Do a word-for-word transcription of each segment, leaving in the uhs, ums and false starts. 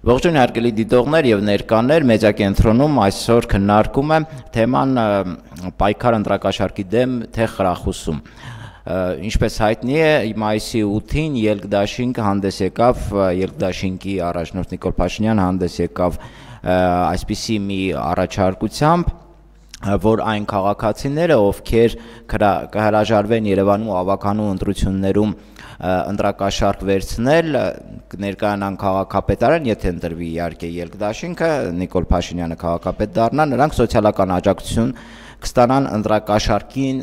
Ողջույն հարգելի դիտողներ եւ ներկաներ, մեդիակենտրոնում այսօր քննարկում եմ թեման պայքար ընտրակաշառքի դեմ թե խրախուսում։ Ինչպես հայտնի է, մայիսի ութին Ելք-Դաշինք հանդես եկավ, Ելք-Դաշինքի առաջնորդ Նիկոլ Փաշինյանը հանդես եկավ այսպիսի մի առաջարկությամբ, որ այն քաղաքացիները, ովքեր կհրաժարվեն Երևանում ավականու ընտրություններում ընտրակաշառք վերցնել, ներկայանան քաղաքապետարան, եթե ընտրվի իհարկե Ելք-Դաշինքը, Նիկոլ Փաշինյանը քաղաքապետ դառնա, նրանք սոցիալական աջակցություն կստանան ընտրակաշառքին,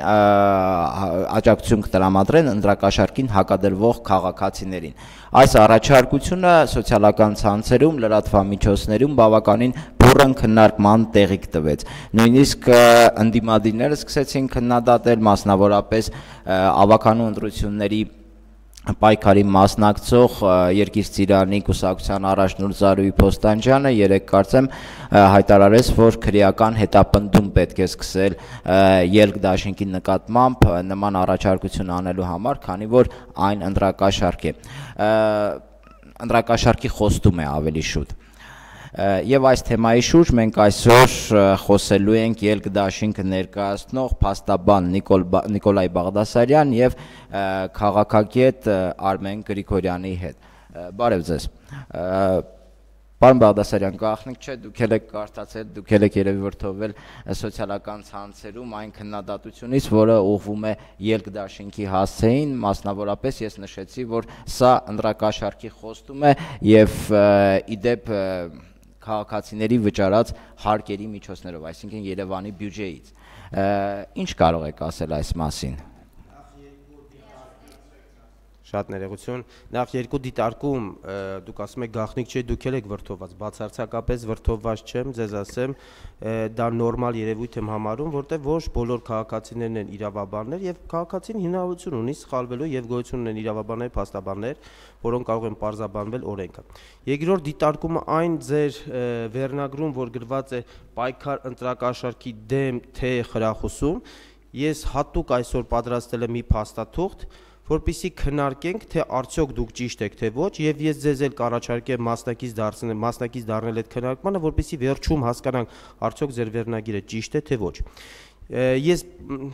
աջակցություն կտրամադրեն ընտրակաշառքին հակադրվող քաղաքացիներին։ Այս առաջարկությունը սոցիալական ցանցերում, լրատվամիջոցներում բավականին բուռն քննարկման տեղիք տվեց։ Նույնիսկ ընդդիմադիրները սկսեցին քննադատել, մասնավորապես ավականու ընտրությունների պայքարի մասնակցող Երկիր-Ծիրանի կուսակցության առաջնորդ Զարուհի Փոստանջյանը երեկ կարծեմ հայտարարեց, որ քրեական հետապնդում պետք է սկսել Ելք-Դաշինքի նկատմամբ նման առաջարկություն անելու համար, քանի որ այն ընտրակաշառք է, ընտրակաշառքի խոստում է ավելի շուտ։ Եվ այս թեմայի շուրջ մենք այսօր խոսելու ենք Ելք-Դաշինքը ներկայացնող փաստաբան Նիկոլայ Բաղդասարյան եւ քաղաքագետ Արմեն Գրիգորյանի հետ։ Բարև ձեզ։ Պարոն Բաղդասարյան, գաղտնիք չէ, դուք եք կարդացել, դուք եք երևի որ թողել սոցիալական ցանցերում այն քննադատությունից, որը ուղղվում է Ելք-Դաշինքի հասցեին, մասնավորապես ես նշեցի, որ սա ընտրակաշառքի խոստում է եւ իդեպ քաղաքացիների վճարած հարկերի միջոցներով, այսինքն Երևանի բյուջեից։ Ինչ կարող եք ասել այս մասին։ Շատ ներողություն, նախ երկու դիտարկում, դուք ասում եք գաղտնիք չէ, դուք եք վրդովված, բացարձակապես վրդովված չեմ, ձեզ ասեմ, դա նորմալ երևույթ եմ համարում, որտեղ ոչ բոլոր քաղաքացիներն են իրավաբաններ եւ քաղաքացին հնարավորություն ունի սխալվելու եւ գոյություն ունեն իրավաբաններ, փաստաբաններ, որոնք կարող են պարզաբանվել օրենքը։ Երկրորդ դիտարկումը այն ձեր վերնագրում, որ գրված է պայքար ընտրակաշառքի դեմ թե խրախուսում, ես հատուկ այսօր պատրաստել եմ մի փաստաթուղթ, որպեսզի քննարկենք, թե արդյոք դուք ճիշտ եք, թե ոչ, եւ ես ձեզ էլ կառաջարկեմ մասնակից դարձնել, մասնակից դառնել այդ քննարկմանը, որպեսզի վերջում հասկանանք, արդյոք ձեր վերնագիրը ճիշտ է, թե ոչ։ Ես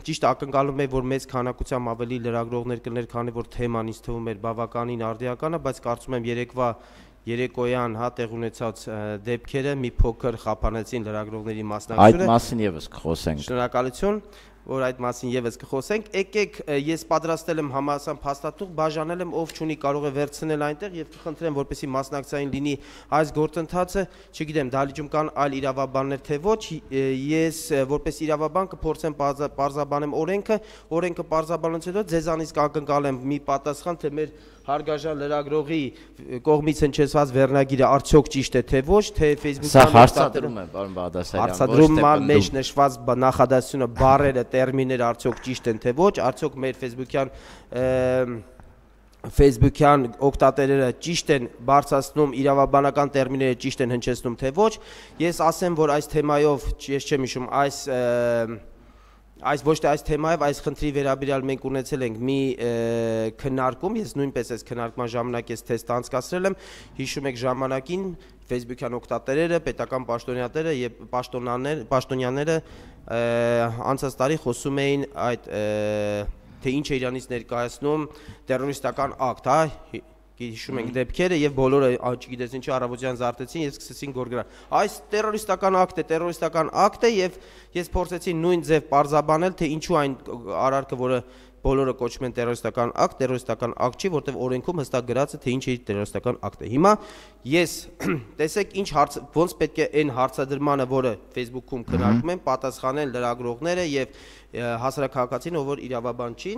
ճիշտ ակնկալում եմ, որ մեծ քանակությամբ ավելի լրագրողներ կներ, քանի որ թեման ինձ թվում էր բավականին արդիական է, բայց կարծում եմ երեկվա երեկոյան հա տեղ ունեցած դեպքերը մի փոքր խափանեցին լրագրողների մասնակցությունը։ Այդ մասին եւս կխոսենք։ Շնորհակալություն, որ այդ մասին եւս կխոսենք։ Եկեք, ես պատրաստել եմ համասան փաստաթուղթ, բաժանել եմ, ով չունի կարող է վերցնել այնտեղ եւ կխնդրեմ, որպեսզի մասնակցային լինի այս գործընթացը, չգիտեմ, դահլիճում կան այլ իրավաբաններ թե ոչ, ես որպես իրավաբան կփորձեմ պարզաբանեմ օրենքը, օրենքը պարզաբանելուց հետո ձեզանից կակնկալեմ մի պատասխան, թե մեր հարգաժան լրագրողի կողմից հնչեցված վերնագիրը արդյոք ճիշտ է թե ոչ, թե Facebook-յան Սա հարցադրում է, պարոն Բաղդասարյան, հարցադրման մեջ նշված նախադասությունը, բառերը, տերմինները արդյոք ճիշտ են թե ոչ, արդյոք մեր Facebook-յան Facebook-յան օգտատերերը ճիշտ են բարձրացնում, իրավաբանական տերմինները ճիշտ են հնչեցնում թե ոչ։ Ես ասեմ, որ այս թեմայով, ես չեմ հիշում, այս Այս ոչ թե այս թեմայով, այս խնդրի վերաբերյալ մենք ունեցել ենք մի քննարկում, ես նույնպես այս քննարկման ժամանակ ես թեստ անցկացրել եմ, հիշում եք ժամանակին Facebook-յան օգտատերերը, պետական պաշտոնյաները եւ պաշտոնյաները անցած տարի խոսում էին այդ թե ինչ է իրանից ներկայացնում տերորիստական ակտ, հա, հիշում ենք դեպքերը եւ բոլորը չգիտես ինչի առավոտյան զարթեցին, ես սկսեցին գորգրանալ։ Այս տերորիստական ակտ է, տերորիստական ակտ է եւ ես փորձեցի նույն ձև պարզաբանել, թե ինչու այն արարքը, որը բոլորը կոչում են տերորիստական ակտ, տերորիստական ակտ չի, որտեղ օրենքում հստակ գրած է, թե ինչ է տերորիստական ակտը։ Հիմա ես տեսեք ինչ հարց, ոնց պետք է այն հարցադրմանը, որը Facebook-ում քննարկում են, պատասխանեն լրագրողները եւ հասարակահաղորդին, ով որ իրավաբան չի,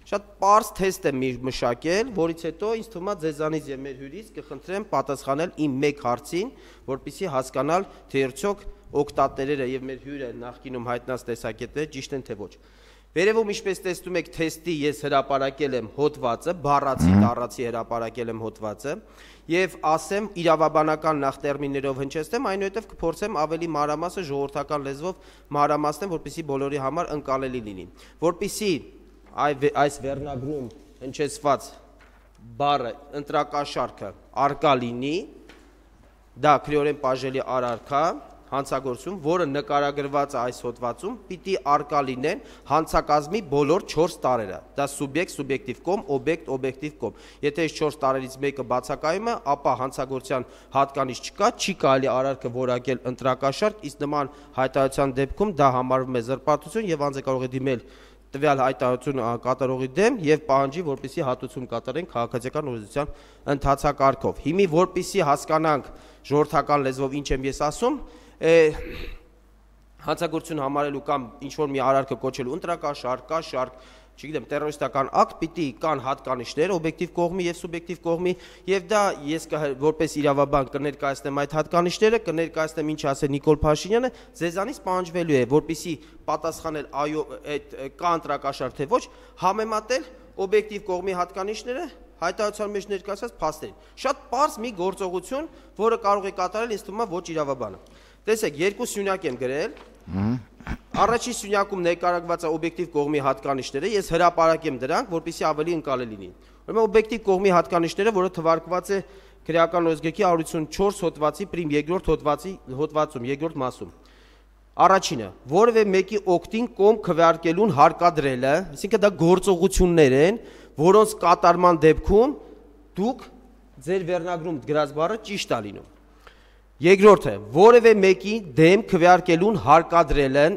շատ պարզ թեստ եմ մշակել, որից հետո ինձ թվում է ձեզանից եւ մեր հյուրից կխնդրեմ պատասխանել իմ մեկ հարցին, որպեսզի հասկանալ, թե արդյոք օգտատերերը եւ մեր հյուրը նախկինում հայտնած տեսակետները ճիշտ են թե ոչ։ Վերևում ինչպես տեսնում եք թեստի ես հրապարակել եմ հոդվածը, բառացի տառացի հրապարակել եմ հոդվածը եւ ասեմ իրավաբանական նախ տերմիններով հնչեցնեմ, այնուհետեւ կփորձեմ ավելի մանրամասը ժողովրդական լեզվով մանրամասնեմ, որպեսզի բոլորի համար ընկալելի լինի։ Որպեսզի այս վերնագրում հնչեցված բառը ընտրակաշառքը արկա լինի, դա քրեորեն բաժելի առարկա հանցագործություն, որը նկարագրված է այս հոդվածում, պիտի արկա լինեն հանցակազմի բոլոր չորս տարերը։ Դա սուբյեկտ, սուբյեկտիվ կողմ, օբյեկտ, օբյեկտիվ կողմ։ Եթե այս չորս տարերից մեկը բացակայում է, ապա հանցագործության հատկանիշ չկա, չի կարելի առարկը որակել ընտրակաշարք, իսկ նման հայտարարության դեպքում դա համարվում է զրպարտություն եւ անձը կարող է դիմել տվյալ հայտարարություն կատարողի դեմ եւ պահանջի, որպեսզի հատուցում կատարեն քաղաքացիական օրենսդրության ընթացակարգով։ Հիմի որպեսզի հասկանանք ժողովրդական լեզվով ինչ եմ ես ասում, հանցագործություն համարելու կամ ինչ-որ մի արարքը կոչելու ընտրակաշարք, կաշարք, չգիտեմ, տերորիստական ակտ պիտի կան հատկանիշներ օբյեկտիվ կողմի եւ սուբյեկտիվ կողմի եւ դա ես որպես իրավաբան կներկայացնեմ այդ հատկանիշները, կներկայացնեմ ինչ ասել Նիկոլ Փաշինյանը, ձեզանից պահանջվելու է, որպեսզի պատասխանել այո, այդ կա ընտրակաշարք թե ոչ, համեմատել օբյեկտիվ կողմի հատկանիշները հայտարարության մեջ ներկայացած փաստերին։ Շատ պարզ մի գործողություն, որը կարող է կատարել ինձ թվում է ոչ իրավաբանը։ Տեսեք, երկու սյունյակ եմ գրել։ Առաջին սյունյակում ներկայացված է օբյեկտիվ կողմի հատկանիշները, ես հրապարակեմ դրանք, որպեսզի ավելի ընկալելի լինի։ Ուրեմն օբյեկտիվ կողմի հատկանիշները, որը թվարկված է քրեական օրենսգրքի one fifty-four հոդվածի պրիմ երկրորդ հոդվածի հոդվածում, երկրորդ մասում։ Առաջինը, որևէ մեկի օգտին կողմ քվեարկելուն հարկադրելը, այսինքն դա գործողություններ են, որոնց կատարման դեպքում դուք ձեր վերնագրում գրած բառը ճիշտ է լինում։ Երկրորդը, որևէ մեկի դեմ քվեարկելուն հարկադրելն,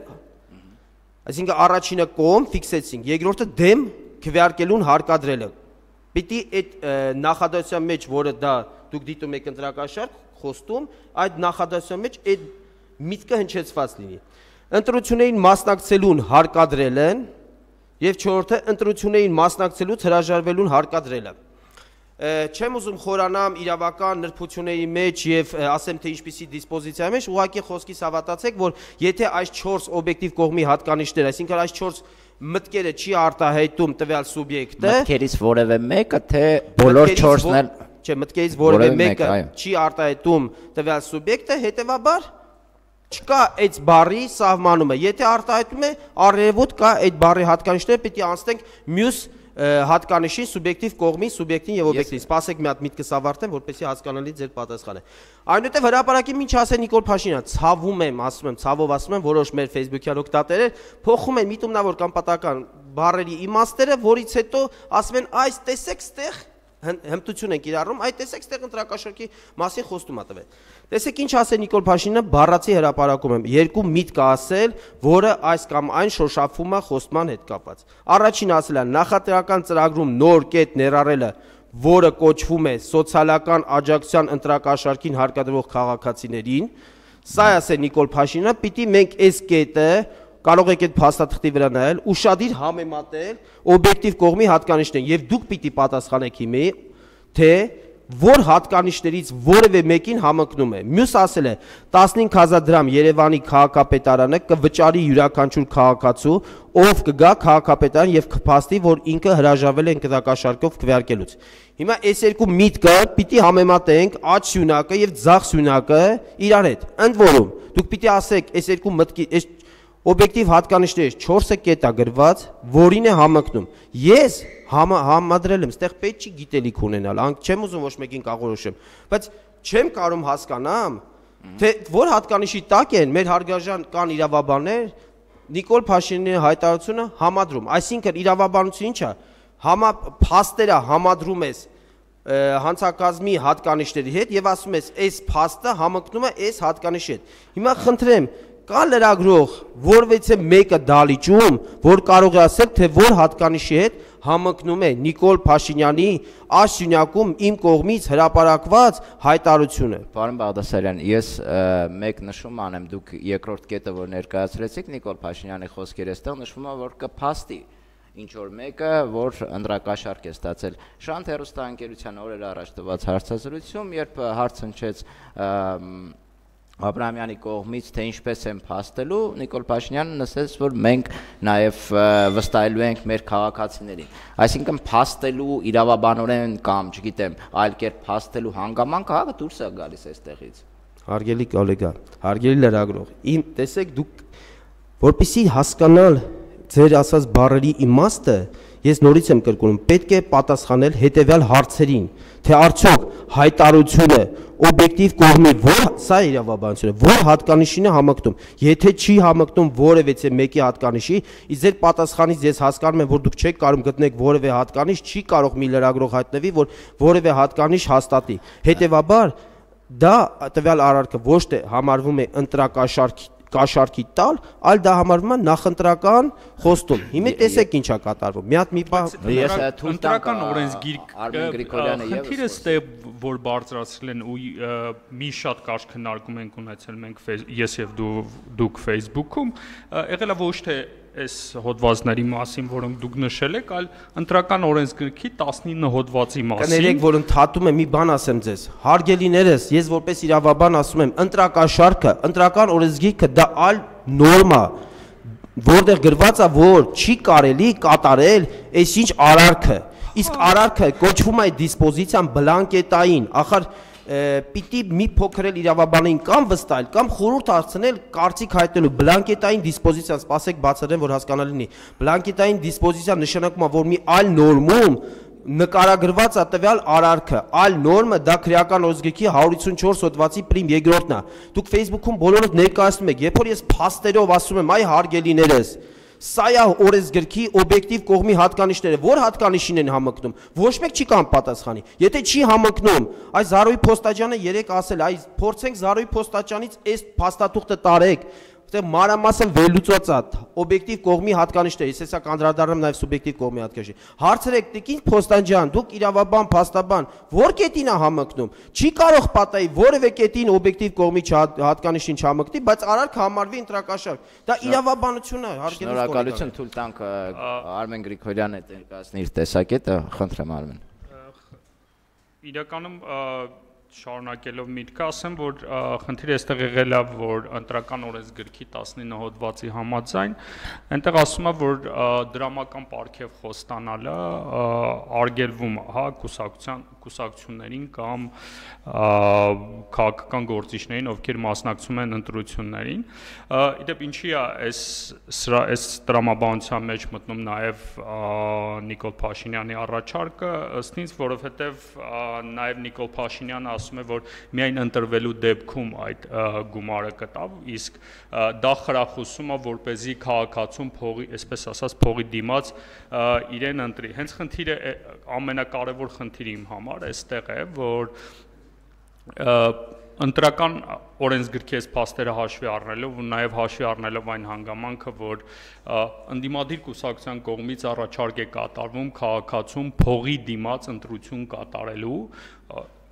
այսինքն առաջինը կողմ ֆիքսեցինք, երկրորդը դեմ քվեարկելուն հարկադրելը։ Պիտի այդ նախադասության մեջ, որը դա դուք դիտում եք ընտրակաշարք, խոստում, այդ նախադասության մեջ այդ միտքը հնչեցված լինի։ Ընտրություններին մասնակցելուն հարկադրելն եւ չորրորդը ընտրություններին մասնակցելուց հրաժարվելուն հարկադրելը։ Չեմ ուզում խորանամ իրավական նրբությունների մեջ եւ ասեմ թե ինչպիսի դիսպոզիցիա մեջ, ուղղակի խոսքիս հավատացեք, որ եթե այս չորս օբյեկտիվ կողմի հատկանիշներ, այսինքն այս չորս մտքերը չի արտահայտում տվյալ սուբյեկտը, մտքերից որևէ մեկը թե բոլոր չորսն էլ, չէ, մտքերից որևէ մեկը չի արտահայտում տվյալ սուբյեկտը, հետեւաբար չկա այդ բառի սահմանումը։ Եթե արտահայտում է առերևույթ կա այդ բառի հատկանիշները, պիտի անցնենք մյուս հատկանիշի սուբյեկտիվ կողմի, սուբյեկտին եւ օբյեկտին։ Սպասեք մի հատ միտքս ավարտեմ, որպեսզի հասկանալի ձեր պատասխանը։ Այնուհետեւ հրապարակի ինչ ասել Նիկոլ Փաշինյանը, ցավում եմ, ասում եմ, ցավով ասում եմ, որոշ մեր Facebook-յան օգտատերեր փոխում են միտումնավոր կամ պատական բառերի իմաստերը, որից հետո ասում են, այս տեսեք, ստեղ հմտություն են կիրառում, այդ տեսեք ստեղ ընտրակաշարքի մասին խոստում ա տվել։ Տեսեք ինչ ասել Նիկոլ Փաշինյանը բառացի հրապարակում եմ, երկու միտք ասել, որը այս կամ այն շոշափվում է խոստման հետ կապված։ Առաջին ասել է նախընտրական ծրագրում նոր կետ ներառելը, որը կոչվում է սոցիալական աջակցության ընտրակաշարքին հարկադրող քաղաքացիներին, սա ասել Նիկոլ Փաշինյանը, պիտի մենք այս կետը կարող եք այդ փաստաթղթի վրա նայել, ուշադիր համեմատել օբյեկտիվ կողմի հատկանիշներին եւ դուք պիտի պատասխանեք հիմի, թե որ հատկանիշներից որևէ մեկին համընկնում է։ Մյուս ասել է տասնհինգ հազար դրամ Երևանի քաղաքապետարանը կվճարի յուրաքանչյուր քաղաքացու, ով կգա քաղաքապետարան եւ կփաստի, որ ինքը հրաժարվել է ընտրակաշարքով քվեարկելուց։ Հիմա այս երկու միտքը պիտի համեմատենք աջ սյունակը եւ ձախ սյունակը իրար հետ։ Ընդ որում դուք պիտի ասեք այս երկու մտքի այս օբյեկտիվ հատկանիշներից չորսը կետ է գրված, որին է համընկնում։ Ես համադրել եմ, ստեղ պետք չի գիտելիք ունենալ, չեմ ուզում ոչ մեկին կաղորոշեմ, բայց չեմ կարող հասկանամ, թե որ հատկանիշի տակ են մեր հարգարժան կան իրավաբաններ, Նիկոլ Փաշինյանի հայտարարությունը համադրում, այսինքն իրավաբանությունը ինչ է, համա փաստերը համադրում ես հանցակազմի հատկանիշների հետ եւ ասում ես, այս փաստը համընկնում է այս հատկանիշի հետ։ Հիմա խնդրեմ, կա լրագրող, որվեցե մեկը դալիճում, որ կարող է ասել, թե որ հատկանիշի հետ համընկնում է Նիկոլ Փաշինյանի աշյունյակում իմ կողմից հրապարակված հայտարարությունը։ Պարոն Բաղդասարյան, ես մեկ նշում անեմ, դուք երկրորդ կետը, որ ներկայացրեցիք Նիկոլ Փաշինյանի խոսքերը, այստեղ նշվում է, որ կփաստի ինչ որ մեկը, որ ընտրակաշարք է ստացել։ Շանթ հեռուստաընկերության օրեր առաջ տված հարցազրույցում, երբ հարց հնչեց Աբրահամյանի կողմից, թե ինչպես են փաստելու, Նիկոլ Փաշինյանը նշեց, որ մենք նաև վստահելու ենք մեր քաղաքացիներին։ Այսինքն փաստելու իրավաբանորեն կամ, չգիտեմ, այլ կերպ փաստելու հանգամանքը հա դուրս է գալիս այստեղից։ Հարգելի կոլեգա, հարգելի լրագրող, իմ տեսեք դուք որպեսզի հասկանալ ձեր ասած բառերի իմաստը, Ես նորից եմ կրկնում, պետք է պատասխանել հետևյալ հարցերին, թե արդյոք հայտարարությունը օբյեկտիվ կողմի որ սա իրավաբանությունը որ հատկանիշին է համակնում, եթե չի համակնում որևէ մեկի հատկանիշի, իսկ ձեր պատասխանից ես հասկանում եմ, որ դուք չեք կարող գտնեք որևէ հատկանիշ, չի կարող մի լրագրող հայտնվի, որ որևէ հատկանիշ հաստատի։ Հետևաբար դա տվյալ արարքը ոչ թե համարվում է ընտրակաշարքի կաշառքի տալ, այլ դա համարվում է նախընտրական խոստում։ Հիմա տեսեք ինչա կատարվում։ Մի հատ մի բան ես ընտրական օրենսգիրք Արմեն Գրիգորյանը եւս խնդիրը ստե որ բարձրացրել են ու մի շատ կարճ քննարկում ենք ունեցել մենք ես եւ դու դուք Facebook-ում, եղել է ոչ թե այս հոդվածների մասին, որոնք դուք նշել եք, այլ ընտրական օրենսգրքի տասնինը հոդվածի մասին։ Կներեք, որ ընդհատում եմ մի բան ասեմ ձեզ։ Հարգելիներս, ես որպես իրավաբան ասում եմ, ընտրակաշարքը, ընտրական օրենսգիրքը դա այլ նորմա, որտեղ գրված է, որ չի կարելի կատարել այսինչ արարքը։ Իսկ արարքը կոչվում է դիսպոզիցիան բլանկետային, ախր պիտի մի փոքր էլ իրավաբանային կամ վստահել կամ խորհուրդ հարցնել կարծիք հայտնելու բլանկետային դիսպոզիցիան, սպասեք բացատրեմ, որ հասկանալի լինի։ Բլանկետային դիսպոզիցիան նշանակում է, որ մի այլ նորմում նկարագրված է տվյալ արարքը, այլ նորմը դա քրեական օրենսգրքի հարյուր ութսունչորս հոդվածի պրիմ երկրորդն է։ Դուք Facebook-ում բոլորդ ներկայացնում եք, երբ որ ես փաստերով ասում եմ, այ հարգելիներս, սա է օրենսգրքի օբյեկտիվ կողմի հատկանիշները, որ հատկանիշին են համընկնում, ոչ մեկ չի կամ պատասխանի։ Եթե չի համընկնում, այս Զարուհի Փոստաջյանը երեք ասել, այ փորձենք Զարուհի Փոստաջյանից այս փաստաթուղթը տարեք, որտեղ մանրամասն վերլուծված է օբյեկտիվ կողմի հատկանիշները, ես հեսա կանդրադառնամ նաև սուբյեկտիվ կողմի հատկանիշի։ Հարցրեք, տիկին Փոստաջյան, դուք իրավաբան, փաստաբան, որ կետին է համընկնում։ Չի կարող պատահի որևէ կետին օբյեկտիվ կողմի հատկանիշին չհամընկնի, բայց արարք համարվի ընտրակաշարք։ Դա իրավաբանություն է, հարգելի շնորհակալություն, թույլ տանք Արմեն Գրիգորյանը ներկայացնի իր տեսակետը, խնդրեմ Արմեն։ Իրականում շարունակելով միտքը ասեմ, որ խնդիրը այստեղ եղել է, որ ընտրական օրենսգրքի տասնինը հոդվածի համաձայն, այնտեղ ասում է, որ դրամական պարգև խոստանալը արգելվում է, հա, կուսակցության կուսակցություններին կամ քաղաքական գործիչներին, ովքեր մասնակցում են ընտրություններին։ Իդեպ ինչի է այս այս տրամաբանության մեջ մտնում նաև Նիկոլ Փաշինյանի առաջարկը, ըստ ինձ, որովհետև նաև Նիկոլ Փաշինյանը ասում է, որ միայն ընտրվելու դեպքում այդ գումարը կտավ, իսկ դա խրախուսում է, որպեսզի քաղաքացուն փողի, այսպես ասած, փողի դիմաց իրեն ընտրի։ Հենց խնդիրը ամենակարևոր խնդիրը իմ համար այստեղ է, որ ընտրական օրենսգրքի այս փաստերը հաշվի առնելով ու նաև հաշվի առնելով այն հանգամանքը, որ ընդդիմադիր կուսակցության կողմից առաջարկ է կատարվում քաղաքացուն փողի դիմաց ընտրություն կատարելու,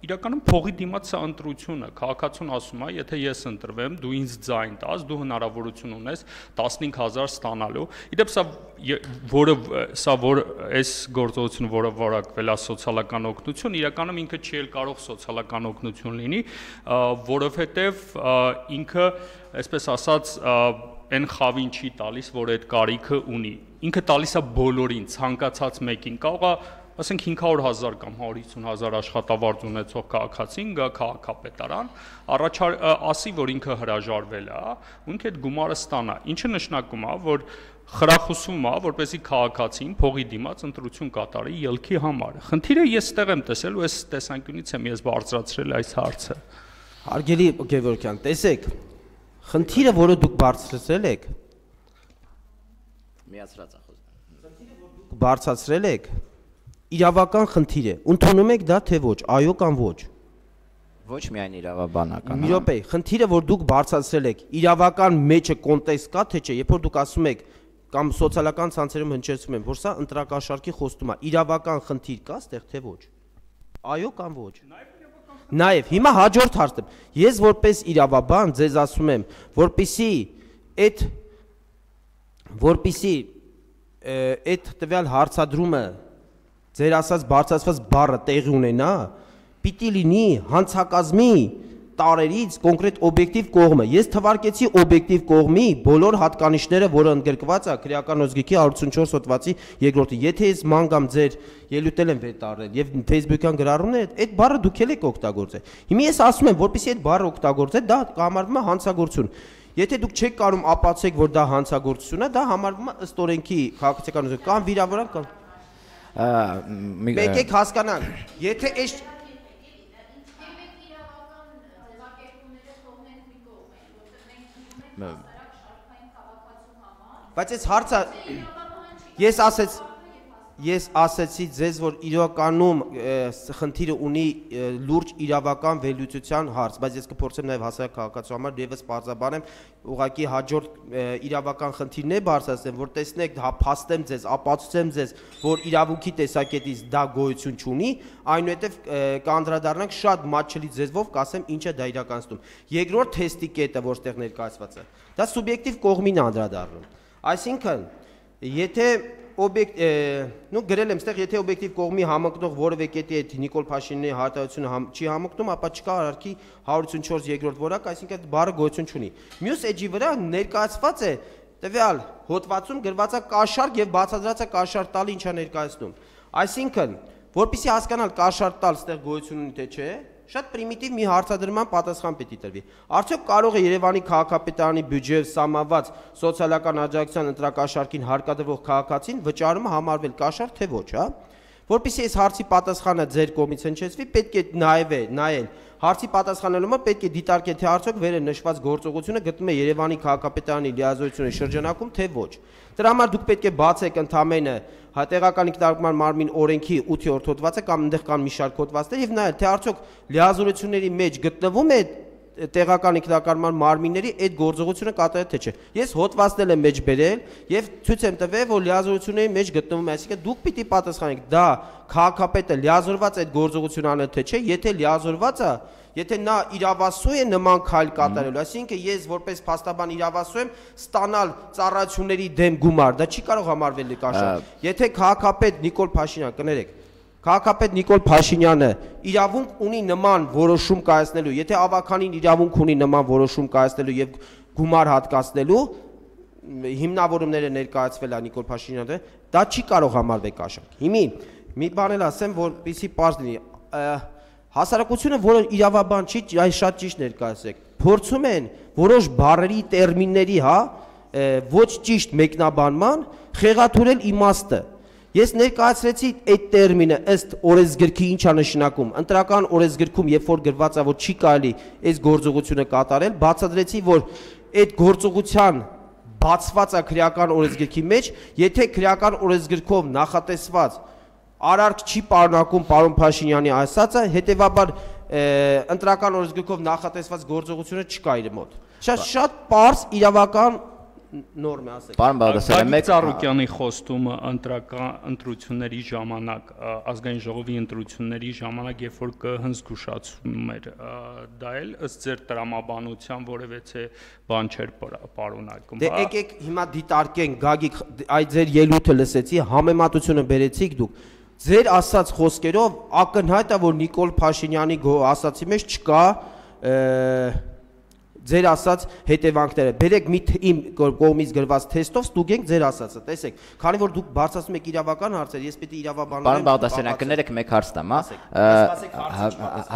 իրականում փողի դիմաց սա ընտրությունը, քաղաքացուն ասում է, եթե ես ընտրվեմ, դու ինձ ձայն տաս, դու հնարավորություն ունես տասնհինգ հազար ստանալու։ Իդեպ սա որը սա որ այս գործողությունը, որը որակվել է սոցիալական օգնություն, իրականում ինքը չի էլ կարող սոցիալական օգնություն լինի, որովհետև ինքը, այսպես ասած, այն խավին չի տալիս, որ այդ կարիքը ունի։ Ինքը տալիս է բոլորին, ցանկացած մեկին, կարող է ասենք հինգ հարյուր հազար կամ հարյուր հիսուն հազար աշխատավարձ ունեցող քաղաքացին գա քաղաքապետարան, առաջար ասի, որ ինքը հրաժարվել է, ու ինքը այդ գումարը ստանա, ինչը նշանակում է, որ խրախուսում է, որպեսզի քաղաքացին փողի դիմաց ընտրություն կատարի ելքի համար։ Խնդիրը ես ստեղ եմ տեսել ու այս տեսանկյունից եմ ես բարձրացրել այս հարցը։ Հարգելի Գևորգյան, տեսեք, խնդիրը, որը դուք բարձրացրել եք, միացրած է խոսքը։ Խնդիրը, որ դուք բարձրացրել եք, իրավական խնդիր է, ընդունում եք դա թե ոչ, այո կամ ոչ։ Ոչ միայն իրավաբանական։ Մի րոպե, խնդիրը, որ դուք բարձրացրել եք, իրավական մեջը կոնտեքստ կա թե չէ, երբ որ դուք ասում եք կամ սոցիալական ցանցերում հնչեցնում են, որ սա ընտրակաշարքի խոստում է, իրավական խնդիր կա այդտեղ թե ոչ։ Այո կամ ոչ։ Նաև հիմա հաջորդ հարցը։ Ես որպես իրավաբան ձեզ ասում եմ, որպեսի այդ որպեսի այդ տվյալ հարցադրումը ձեր ասած բարձրացված բառը տեղի ունենա, պիտի լինի հանցակազմի տարերից կոնկրետ օբյեկտիվ կողմը։ Ես թվարկեցի օբյեկտիվ կողմի բոլոր հատկանիշները, որը ընդգրկված է քրեական օրենսգրքի հարյուր ութսունչորս հոդվածի երկրորդը։ Եթե ես մանգամ ձեր ելույթել եմ վերտարել եւ Facebook-յան գրառումները, այդ բառը դուք ել եք օգտագործել։ Հիմա ես ասում եմ, որպեսզի այդ բառը օգտագործեք, դա համարվում է հանցագործություն։ Եթե դուք չեք կարող ապացուցեք, որ դա հանցագործություն է, դա համարվում է ըստ օրենքի քաղաքացիական կամ վիրավորանք կամ Մենք եք հասկանանք, եթե այս Բայց այս հարցը ես ասեց ես ասեցի ձեզ որ իրականում խնդիրը ունի լուրջ իրավական վերլուծության հարց, բայց ես կփորձեմ նաև հասարակ քաղաքացու համար եւս բարձրաբանեմ, ուղղակի հաջորդ իրավական խնդիրն է բարձրացնեմ, որ տեսնեք, փաստեմ ձեզ, ապացուցեմ ձեզ, որ իրավունքի տեսակետից դա գոյություն չունի, այնուհետև կանդրադառնանք շատ մատչելի ձևով կասեմ ինչ է դա իրականացնում։ Երկրորդ թեստի կետը, որտեղ ներկայացված է, դա սուբյեկտիվ կողմին անդրադառնում։ Այսինքն, եթե օբյեկտ նո գրել եմ ստեղ եթե օբյեկտիվ կողմի համընկնող որևէ կետի հետ Նիկոլ Փաշինյանի հարտահայտությունը համ, չի համընկնում, ապա չկա արարքի հարյուր ութսունչորս երկրորդ որակ, այսինքն բառը գոյություն չունի։ Մյուս էջի վրա ներկայացված է տվյալ հոդվածում գրված է կաշառք եւ բացատրած է կաշառք տալը ինչա ներկայացնում։ Այսինքն, որpիսի հասկանալ կաշառք տալ ստեղ գոյություն ունի թե չէ, շատ պրիմիտիվ մի հարցադրման պատասխան պետք է տրվի։ Արդյոք կարող է Երևանի քաղաքապետարանի բյուջեով սահմանված սոցիալական աջակցության ընտրակաշառքին հարկադրվող քաղաքացին վճարումը համարվել կաշառք թե ոչ, հա։ Որպեսզի այս հարցի պատասխանը ձեր կողմից հնչեցվի, պետք է նայել, նայել։ Հարցի պատասխանելումը պետք է դիտարկել, թե արդյոք վերը նշված գործողությունը գտնում է Երևանի քաղաքապետարանի լիազորությունների շրջանակում, թե ոչ։ Դրա համար դուք պետք է բացեք ընդամենը տեղական ինքնարարման մարմին օրենքի ութերորդ հոդվածը կամ այնտեղ կան մի շարք հոդվածներ եւ նայել, թե արդյոք լիազորությունների մեջ գտնվում է տեղական ինքնակառավարման մարմինների այդ գործողությունը կատարել թե չէ։ Ես հոդվածնել եմ մեջ բերել եւ ցույց եմ տվել, որ լիազորությունների մեջ գտնվում է, այսինքն դուք պիտի պատասխանեք, դա քաղաքապետը լիազորված այդ գործողությունը անել թե չէ, եթե լիազորված է, եթե նա իրավասու է նման քայլ կատարելու, այսինքն ես որպես փաստաբան իրավասու եմ ստանալ ծառայությունների դեմ գումար, դա չի կարող համարվել կաշառք։ Եթե քաղաքապետ Նիկոլ Փաշինյան, կներեք, քաղաքապետ Նիկոլ Փաշինյանը իրավունք ունի նման որոշում կայացնելու, եթե ավականին իրավունք ունի նման որոշում կայացնելու եւ գումար հատկացնելու, հիմնավորումները ներկայացվել է Նիկոլ Փաշինյանը, դա չի կարող համարվել կաշառք։ Հիմի մի բան էլ ասեմ, որպեսզի պարզ լինի, հասարակությունը, որը իրավաբան չի, այս շատ ճիշտ ներկայացեք, փորձում են որոշ բառերի, տերմինների, հա, ոչ ճիշտ մեկնաբանման խեղաթյուրել իմաստը։ Ես ներկայացրեցի այդ տերմինը ըստ օրենսգրքի ինչա նշանակում, ընտրական օրենսգրքում երբ որ գրված է, որ չի կարելի այս գործողությունը կատարել, բացատրեցի, որ այդ գործողության բացված է քրեական օրենսգրքի մեջ, եթե քրեական օրենսգրքով նախատեսված արարք չի պարունակում պարոն Փաշինյանի ասածը, հետևաբար ընտրական օրենսգրքով նախատեսված գործողությունը չկա իր մոտ։ Շատ շատ պարզ իրավական նորմ է, ասեք։ Պարոն Բաղդասարյան, մեկ Ծառուկյանի խոստումը ընտրական ընտրությունների ժամանակ, ազգային ժողովի ընտրությունների ժամանակ, երբ որ կհնձգուշացում էր, դա էլ ըստ ձեր տրամաբանության որևէ բան չէր պարունակում։ Դե եկեք հիմա դիտարկենք, Գագիկ, այդ ձեր ելույթը լսեցի, համեմատությունը բերեցիք դուք։ Ձեր ասած խոսքերով ակնհայտ է, որ Նիկոլ Փաշինյանի ասացի մեջ չկա ձեր ասած հետևանքները։ Բերեք մի իմ կողմից գրված թեստով ստուգենք ձեր ասածը։ Տեսեք, քանի որ դուք բարձրացնում եք իրավական հարցեր, ես պետք է իրավաբանեմ։ Պարոն Բաղդասարյան, կներեք մեկ հարց տամ, հա։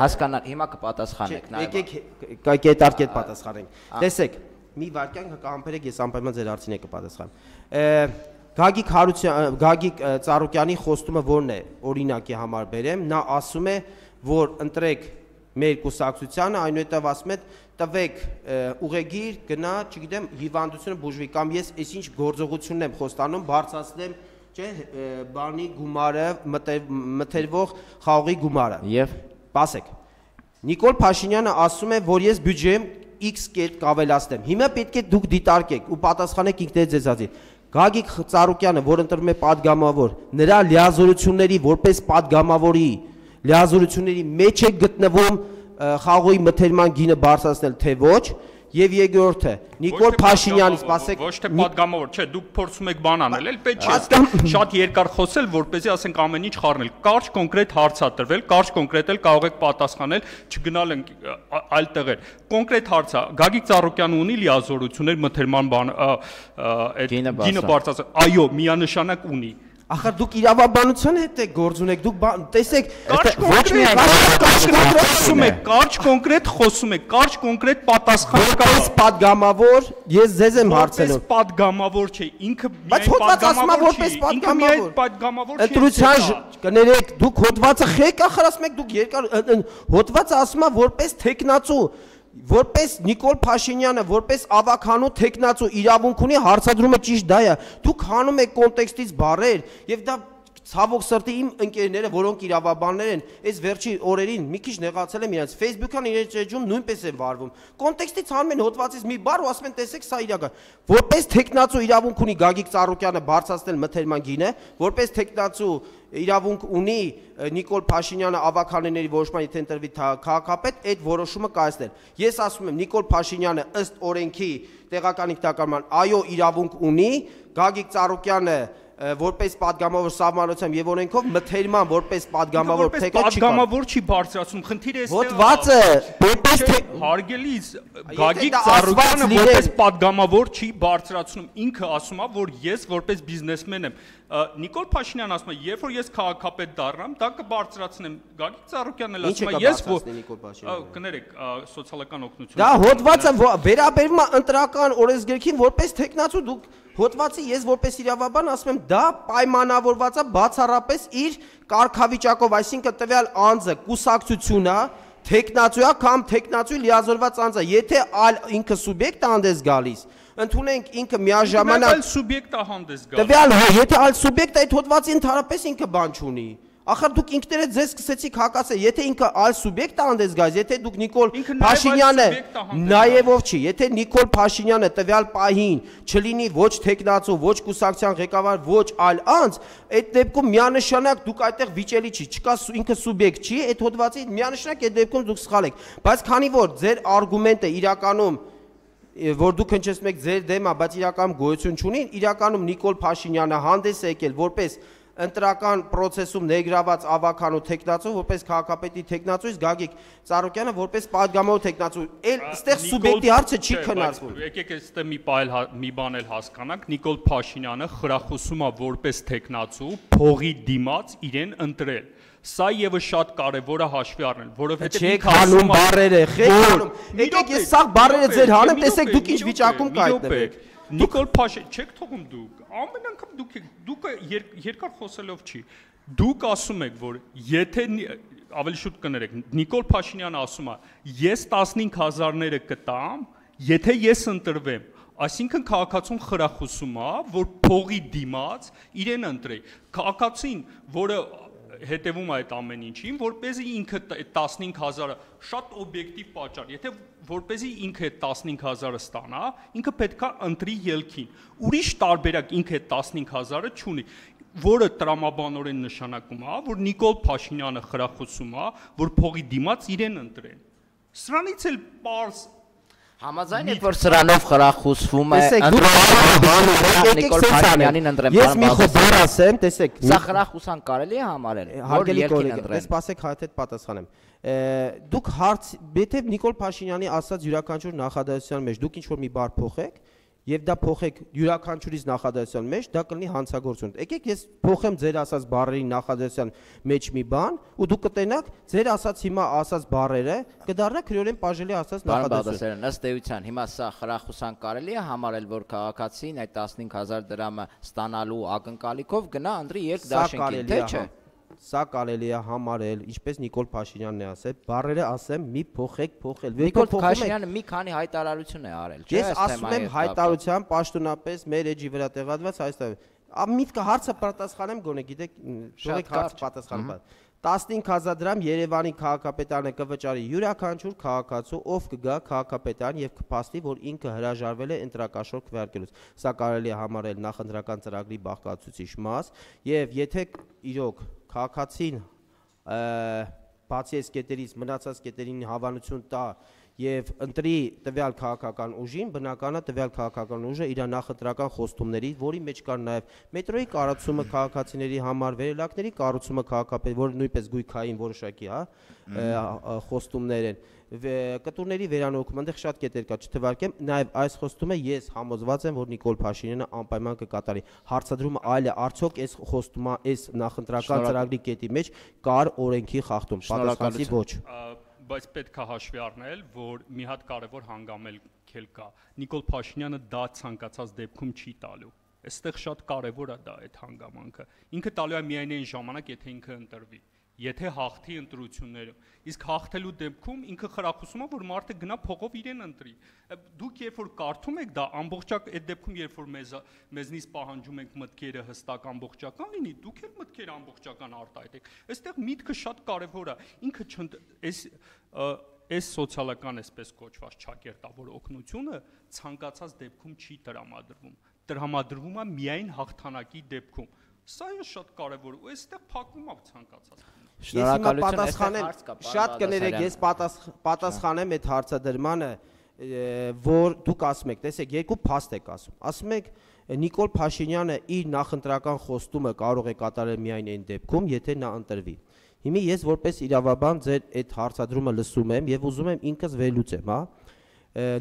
Հասկանալ, հիմա կպատասխանեք նայեք։ Եկեք կետարկետ պատասխանենք։ Տեսեք, մի վարքյան կհամբերեք, ես անպայման ձեր հարցին եք կպատասխանեմ։ Գագիկ Հարության, Գագիկ Ծառուկյանի խոստումը ո՞րն է, օրինակի համար բերեմ, նա ասում է, որ ընտրեք մեր կուսակցությանը, այնուհետև ասում է տվեք ուղեգիր, գնա, չգիտեմ, հիվանդությունը բուժվի կամ ես այսինչ գործողությունն եմ խոստանում, բարձրացնեմ, չէ, բանի գումարը, մթերվող խաղողի գումարը։ Եվ ասեք, Նիկոլ Փաշինյանը ասում է, որ ես բյուջեում X կերպ կավելացնեմ։ Հիմա պետք է դուք դիտարկեք ու պատասխանեք ինքներդ ձեզ ասի։ Գագիկ Ծառուկյանը, որ ընտրվում է падգամավոր, նրա լիազորությունների որպես падգամավորի լիազորությունների մեջ է գտնվում խաղողի մթերման գինը բարձրացնել թե ոչ, եւ երկրորդը Նիկոլ Փաշինյանի, ասեք, ոչ թե падգամավոր, չէ, դուք փորձում եք բան անել, էլ պետք չէ շատ երկար խոսել, որպեսզի ասենք ամեն ինչ խառնել։ Կարճ կոնկրետ հարց ա տրվել, կարճ կոնկրետ էլ կարող եք պատասխանել, չգնալ ենք այլ տեղեր։ Կոնկրետ հարց ա, Գագիկ Ծառուկյանը ունի լիազորություններ մթերման բան, այդ գինը բարձրացնել։ Այո, միանշանակ ունի։ Ախր դուք իրավաբանության հետ եք գործ ունեք, դուք տեսեք, ոչ միայն խոսում եք, կարճ կոնկրետ խոսում եք, կարճ կոնկրետ պատասխան կա։ Որպես падգամավոր ես ձեզ եմ հարցնում։ Որպես падգամավոր չէ, ինքը միայն падգամավոր չէ։ Ընտրության կներեք, դուք հոդվածը խեք ախր ասում եք, դուք երկար հոդվածը ասում է որպես տեխնացու, որպես Նիկոլ Փաշինյանը, որպես ավականու տեխնացու իրավունք ունի, հարցադրումը ճիշտ դա է։ Դուք հանում եք կոնտեքստից բառեր եւ դա ցավոք սրտի իմ ընկերները, որոնք իրավաբաններ են, այս վերջի օրերին մի քիչ նեղացել եմ իրենց Facebook-ան իրենց էջում նույնպես են վարվում։ Կոնտեքստից հանում են հոդվածից մի բառ ու ասում են տեսեք սա իրական։ Որպես տեխնացու իրավունք ունի Գագիկ Ծառուկյանը բարձրացնել մթերման գինը, որպես տեխնացու իրավունք ունի Նիկոլ Փաշինյանը ավականների որոշման եթե ընտրվի քաղաքապետ այդ որոշումը կայացնել։ Ես ասում եմ Նիկոլ Փաշինյանը ըստ օրենքի տեղական ինքնակառավարման այո իրավունք ունի, Գագիկ Ծառուկյանը որպես падգամավոր սահմանությամբ եւ օրենքով մթերման որպես падգամավոր թեկը չի падգամավոր չի բարձրացնում խնդիրը էստեղ հոդվածը որպես հարգելիս Գագիկ Ծառուկյանը որպես падգամավոր չի բարձրացնում ինքը ասում է որ ես որպես բիզնեսմեն եմ Նիկոլ Փաշինյանն ասում է երբ որ ես քաղաքապետ դառնամ դա կբարձրացնեմ Գագիկ Ծառուկյանն ասում է ես կներեք սոցիալական օգնություն դա հոդվածը վերաբերում է ընտրական օրենսգրքին որպես տեխնացու դուք հոդվածի ես որպես իրավաբան ասում եմ դա պայմանավորված է բացառապես իր կարգավիճակով, այսինքն տվյալ անձը կուսակցությունա, տեխնացուա կամ տեխնացուի լիազորված անձը, եթե այլ ինքը սուբյեկտ հանդես գալիս, ընդունենք ինքը միաժամանակ այլ սուբյեկտ է հանդես գալիս։ Տվյալ եթե այլ սուբյեկտ այդ հոդվածի ընդհանրապես ինքը բան չունի։ Ախր դուք ինքներդ ձեզ սկսեցիք հակասել, եթե ինքը այլ սուբյեկտ է հանդես գալիս, եթե դուք Նիկոլ Փաշինյանը նաև ով չի, եթե Նիկոլ Փաշինյանը տվյալ պահին չլինի ոչ տեխնացու, ոչ կուսակցության ղեկավար, ոչ այլ անձ, այդ դեպքում միանշանակ դուք այդտեղ վիճելի չի, չկա ինքը սուբյեկտ չի, այդ հոդվածի միանշանակ այդ դեպքում դուք սխալ եք, բայց քանի որ ձեր արգումենտը իրականում որ դուք հնչեցնում եք ձեր դեմը, բայց իրականում գոյություն չունի, իրականում Նիկոլ Փաշինյանը հանդես է եկել որպես ընտրական process-ում ներգրաված ավականու տեխնացու, որպես քաղաքապետի տեխնացու, իսկ Գագիկ Ծառուկյանը որպես падգամավոր տեխնացու, էլ այստեղ սուբյեկտի հարցը չի քննարկվում։ Եկեք այստեղ մի մի բան էլ հասկանանք, Նիկոլ Փաշինյանը խրախուսում է որպես տեխնացու փողի դիմաց իրեն ընտրել։ Սա եւս շատ կարեւոր է հաշվի առնել, որովհետեւ չեք հանում բառերը, խեք հանում։ Եկեք ես սա բառերը ձեր հանեմ, տեսեք դուք ինչ վիճակում կայտնվեք։ Նիկոլ Փաշինյան, չեք թողում դուք, ամեն անգամ դուք դուք երկար խոսելով չի։ Դուք ասում եք, որ եթե ավելի շուտ կներեք, Նիկոլ Փաշինյանը ասում է, ես տասնհինգ հազարները կտամ, եթե ես ընտրվեմ, այսինքն քաղաքացուն խրախուսում է, որ փողի դիմաց իրեն ընտրի։ Քաղաքացին, որը հետևում է այդ ամեն ինչին, որպեսզի ինքը տասնհինգ հազարը շատ օբյեկտիվ պատճառ, եթե որպեսզի ինքը տասնհինգ հազարը ստանա, ինքը պետք է ընտրի ելքին։ Ուրիշ տարբերակ ինքը տասնհինգ հազարը չունի, որը տրամաբանորեն նշանակում է, որ Նիկոլ Փաշինյանը խրախուսում է, որ փողի դիմաց իրեն ընտրեն։ Սրանից էլ պարզ Համաձայն եք որ սրանով խրախուսվում է Նիկոլ Փաշինյանին ընտրեմ։ Ես մի խոհ ասեմ, տեսեք, սա խրախուսան կարելի է համարել, որ երկին ընտրեն։ Ես սպասեք հայտ հետ պատասխանեմ։ Դուք հարց, եթե Նիկոլ Փաշինյանի ասած յուրաքանչյուր նախադասության մեջ դուք ինչ որ մի բառ փոխեք, եւ դա փոխեք յուրաքանչյուրից նախադասության մեջ, դա կլինի հանցագործություն։ Եկեք ես փոխեմ ձեր ասած բառերի նախադասության մեջ մի բան, ու դուք կտենաք ձեր ասած հիմա ասած բառերը կդառնա քրեորեն բաժելի ասած նախադասություն։ Ըստ էության հիմա սա խրախուսան կարելի է համարել, որ քաղաքացին այդ տասնհինգ հազար դրամը ստանալու ակնկալիքով գնա ընտրի երկդաշինքին, թե չէ։ Սա կարելի է համարել, ինչպես Նիկոլ Փաշինյանն է ասել, բառերը ասեմ մի փոխեք, փոխել։ Նիկոլ Փաշինյանը մի քանի հայտարարություն է արել, չէ՞։ Ես ասում եմ հայտարարության պաշտոնապես մեր էջի վրա տեղադրված այստեղ։ Միտքը հարցը պատասխանեմ գոնե, գիտեք, թողեք հարց պատասխանեմ։ տասնհինգ հազար դրամ Երևանի քաղաքապետարանը կվճարի յուրաքանչյուր քաղաքացու, ով կգա քաղաքապետարան եւ կփաստի, որ ինքը հրաժարվել է ընտրակաշառք քվեարկելուց։ Սա կարելի է համարել նախընտրական ծրագրի բաղկացուցիչ մաս, եւ եթե իրոք քաղաքացին բացի այս կետերից մնացած կետերին հավանություն տա եւ ընտրի տվյալ քաղաքական ուժին, բնականա տվյալ քաղաքական ուժը իր նախընտրական խոստումների, որի մեջ կար նաեւ մետրոյի կառուցումը քաղաքացիների համար, վերելակների կառուցումը քաղաքապետ, որը նույնպես գույքային որոշակի, հա, խոստումներ են, կտուրների վերանորոգում, այնտեղ շատ կետեր կա, չթվարկեմ, նաեւ այս խոստումը ես համոզված եմ, որ Նիկոլ Փաշինյանը անպայման կկատարի։ Հարցադրումը այլ է, արդյոք այս խոստումը, այս նախընտրական ծրագրի կետի մեջ կար օրենքի խախտում, պատասխանատվի ոչ։ Բայց պետք է հաշվի առնել, որ մի հատ կարևոր հանգամանք էլ կա։ Նիկոլ Փաշինյանը դա ցանկացած դեպքում չի տալու։ Այստեղ շատ կարևոր է դա այդ հանգամանքը։ Ինքը տալու է միայն այն ժամանակ, եթե ինքը ընտրվի։ Եթե հաղթի ընտրություններում, իսկ հաղթելու դեպքում ինքը խրախուսում է, որ մարդը գնա փողով իրեն ընտրի։ Դուք երբ որ կարդում եք դա ամբողջակ այդ դեպքում երբ որ մեզ մեզնից պահանջում ենք մտքերը հստակ ամբողջական լինի, դուք էլ մտքերը ամբողջական արտահայտեք։ Այստեղ միտքը շատ կարևոր է։ Ինքը այս այս սոցիալական այսպես կոչված ճակերտավոր օգնությունը ցանկացած դեպքում չի տրամադրվում։ Տրամադրվում է միայն հաղթանակի դեպքում։ Սա է շատ կարևոր ու այստեղ փակվում է ցանկացած։ Շնորհակալություն, պատասխանեմ, շատ կներեք, ես պատասխանեմ այդ հարցադրմանը, որ դուք ասում եք, տեսեք, երկու փաստ եք ասում։ Ասում եք Նիկոլ Փաշինյանը իր նախընտրական խոստումը կարող է կատարել միայն այն դեպքում, եթե նա ընտրվի։ Հիմա ես որպես իրավաբան ձեր այդ հարցադրումը լսում եմ եւ ուզում եմ ինքս վերլուծեմ, հա։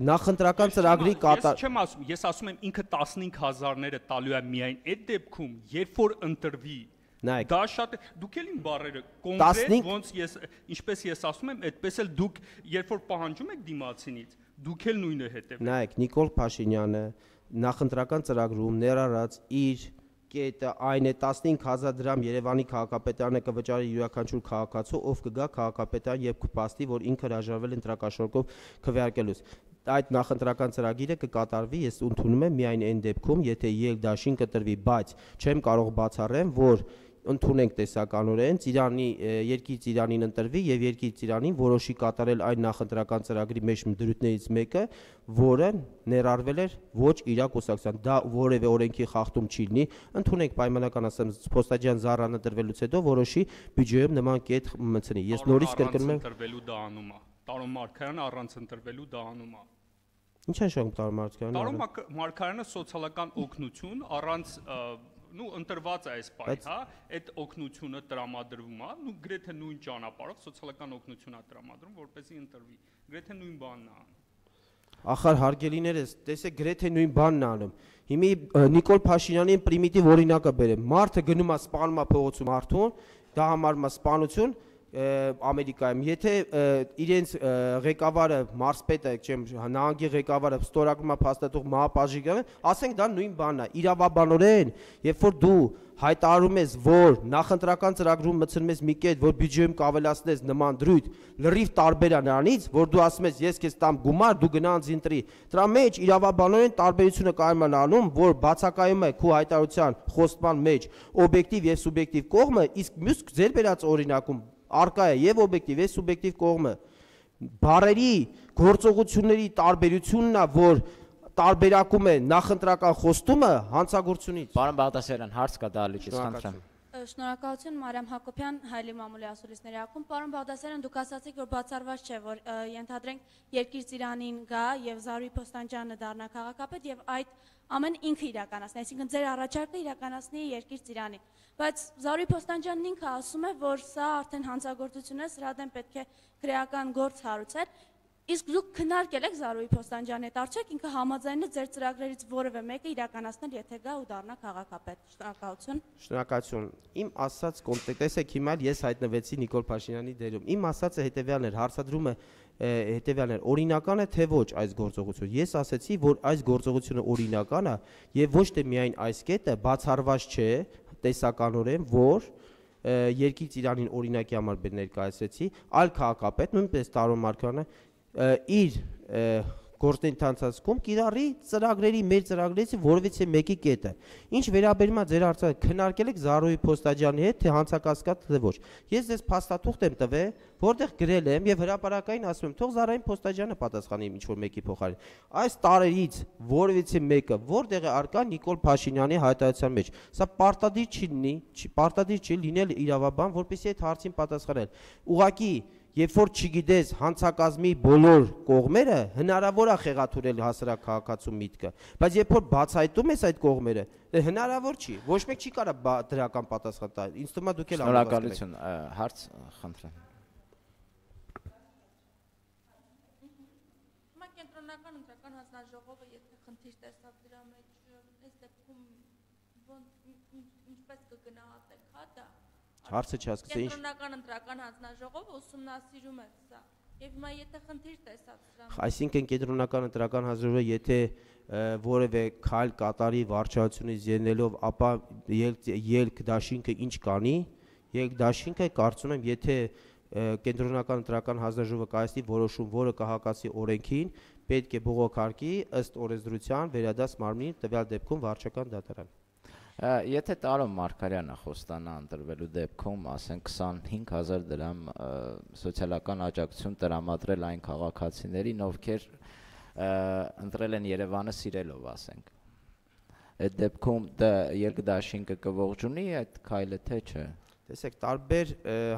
Նախընտրական ծրագրի կատար։ Ես չեմ ասում, ես ասում եմ ինքը տասնհինգ հազարները տալու է միայն այդ դեպքում, երբ որ ընտրվի։ Դա շատ դուք էլ իմ բառերը կոնկրետ ոնց ես ինչպես ես ասում եմ, այդպես էլ դուք երբ որ պահանջում եք դիմացինից, դուք էլ նույնը հետևեք։ Նայեք, Նիկոլ Փաշինյանը նախընտրական ծրագրում ներառած իր կետը այն է տասնհինգ հազար դրամ Երևանի քաղաքապետարանը կվճարի յուրաքանչյուր քաղաքացու, ով կգա քաղաքապետարան եւ կփաստի, որ ինքը հրաժարվել ընտրակաշառքով քվեարկելուց։ Այդ նախընտրական ծրագիրը կկատարվի, ես ընդունում եմ միայն այն դեպքում, եթե ելդաշին կտրվի, բայց չեմ կարող բացառեմ, որ ընդունենք տեսականորեն Ծիրանի երկիր Ծիրանին ընտրվի եւ երկիր Ծիրանին որոշի կատարել այն նախընտրական ծրագրի մեջ դրույթներից մեկը, որը ներառվել էր ոչ իր կուսակցության, դա որևէ օրենքի խախտում չի լինի, ընդունենք պայմանական ասեմ Փոստաջյան Զարանը տրվելուց հետո որոշի բյուջեում նման կետ մտցնի։ Ես նորից կրկնում եմ ընտրվելու դա անում է։ Տարոն Մարգարյանը առանց ընտրվելու դա անում է։ Ինչ է շարունակում Տարոն Մարգարյանը։ Տարոն Մարգարյանը սոցիալական օգնություն առանց նու ընտրված է այս պահին, հա, այդ օգնությունը տրամադրվում է, նու գրեթե նույն ճանապարհով սոցիալական օգնություն է տրամադրում, որպեսզի ընտրվի։ Գրեթե նույն բանն է անում։ Ախր հարգելիներս, տեսեք, գրեթե նույն բանն է անում։ Հիմա Նիկոլ Փաշինյանին պրիմիտիվ օրինակը բերեմ։ Մարդը գնում է սպանում է փողոցում արդուն, դա համարվում է սպանություն Ամերիկայում, եթե իրենց ղեկավարը մարզպետը, չեմ նահանգի ղեկավարը ստորագրում է փաստաթուղթ մահապարժի, ասենք դա նույն բանն է, իրավաբանորեն, երբ որ դու հայտարարում ես, որ նախընտրական ծրագրում մտցնում ես մի կետ, որ բյուջեում կավելացնես նման դրույթ, լրիվ տարբեր է նրանից, որ դու ասում ես, ես քեզ տամ գումար, դու գնանց ընտրի։ Դրա մեջ իրավաբանորեն տարբերությունը կարելի է անում, որ բացակայում է քո հայտարարության խոստման մեջ օբյեկտիվ եւ սուբյեկտիվ կողմը, իսկ մյուս ձեր բերած օրինակում արկա է եւ օբյեկտիվ եւ սուբյեկտիվ կողմը։ Բարերի գործողությունների տարբերությունն է, որ տարբերակում է նախընտրական խոստումը հանցագործությունից։ Պարոն Բաղդասարյան, հարց կա դալիճից, խնդրեմ։ Շնորհակալություն Մարիամ Հակոբյան, Հայլի Մամուլի ասուլիսների ակում։ Պարոն Բաղդասարյան, դուք ասացիք, որ բացառված չէ, որ ենթադրենք երկիր Ծիրանին գա եւ Զարուհի Փոստանջյանը դառնա քաղաքապետ եւ այդ ամեն ինքը իրականացնի, այսինքն ձեր առաջարկը իրականացնի երկիր Ծիրանին։ Բայց Զարուհի Փոստանջյանն ինքը ասում է, որ սա արդեն հանցագործություն է, սրա դեմ պետք է քրեական գործ հարուցել։ Իսկ դուք քննարկել եք Զարուհի Փոստանջյանի հետ, արդյոք ինքը համաձայն է ձեր ծրագրերից որևէ մեկը իրականացնել, եթե գա ու դառնա քաղաքապետ։ Շնորհակալություն։ Շնորհակալություն։ Իմ ասած կոնտեքստը, տեսեք, հիմա ես հայտնվեցի Նիկոլ Փաշինյանի դերում։ Իմ ասածը հետեւյալն էր, հարցադրումը հետեւյալն էր, օրինական է թե ոչ այս գործողությունը։ Ես ասացի, որ այս գործողությունը օրինական է եւ ոչ թե միայն այս կետը բացառված չէ տեսականորեն, որ երկիր Ծիրանին օրինակի համար ներկայացրեցի, այլ քաղաքապետ, նույնպես Տարոն Մարգարյանը իր գործընթացում կիրառի ծրագրերի մեր ծրագրերից որևիցե մեկի կետը։ Ինչ վերաբերում է ձեր հարցը, քննարկել եք Զարուհի Փոստաջյանի հետ, թե հանցակասկած թե ոչ։ Ես ձեզ փաստաթուղթ եմ տվել, որտեղ գրել եմ եւ հրապարակային ասում եմ, թող Զարուհի Փոստաջյանը պատասխանի ինչ որ մեկի փոխարեն։ Այս տարերից որևիցե մեկը որտեղ է արկա Նիկոլ Փաշինյանի հայտարարության մեջ։ Սա պարտադիր չի լինի, չի պարտադիր չի լինել իրավաբան, որպեսզի այդ հարցին պատասխանել։ Ուղղակի երբ որ չգիտես հանցակազմի բոլոր կողմերը, հնարավոր է խեղաթյուրել հասարակ քաղաքացու միտքը, բայց երբ որ բացահայտում ես այդ կողմերը, հնարավոր չի, ոչ մեկ չի կարող դրական պատասխան տալ, ինձ թվում է դուք էլ Շնորհակալություն, հարց խնդրեմ։ Հիմա կենտրոնական ընտրական հանձնաժողովը եթե խնդիր տեսավ դրա մեջ, այս դեպքում ինչպես կգնահատեք, հա դա։ Հարցը չհասկացա ինչ։ Կենտրոնական ընտրական հանձնաժողովը ուսումնասիրում է սա։ Եվ հիմա եթե խնդիր տեսավ դրա մեջ։ Այսինքն կենտրոնական ընտրական հանձնաժողովը եթե որևէ քայլ կատարի վարչությունից ելնելով, ապա ելք դաշինքը ինչ կանի, ելք դաշինքը կարծում եմ, եթե կենտրոնական ընտրական հանձնաժողովը կայացնի որոշում, որը կհակասի օրենքին, պետք է բողոքարկի ըստ օրենսդրության վերադաս մարմնին, տվյալ դեպքում վարչական դատարան։ Եթե Տարոն Մարգարյանը խոստանա ընտրվելու դեպքում, ասենք քսանհինգ հազար դրամ սոցիալական աջակցություն տրամադրել այն քաղաքացիներին, ովքեր ընտրել են Երևանը սիրելով, ասենք։ Այդ դեպքում դա երկդաշինքը կողջունի այդ քայլը թե չէ։ Տեսեք, տարբեր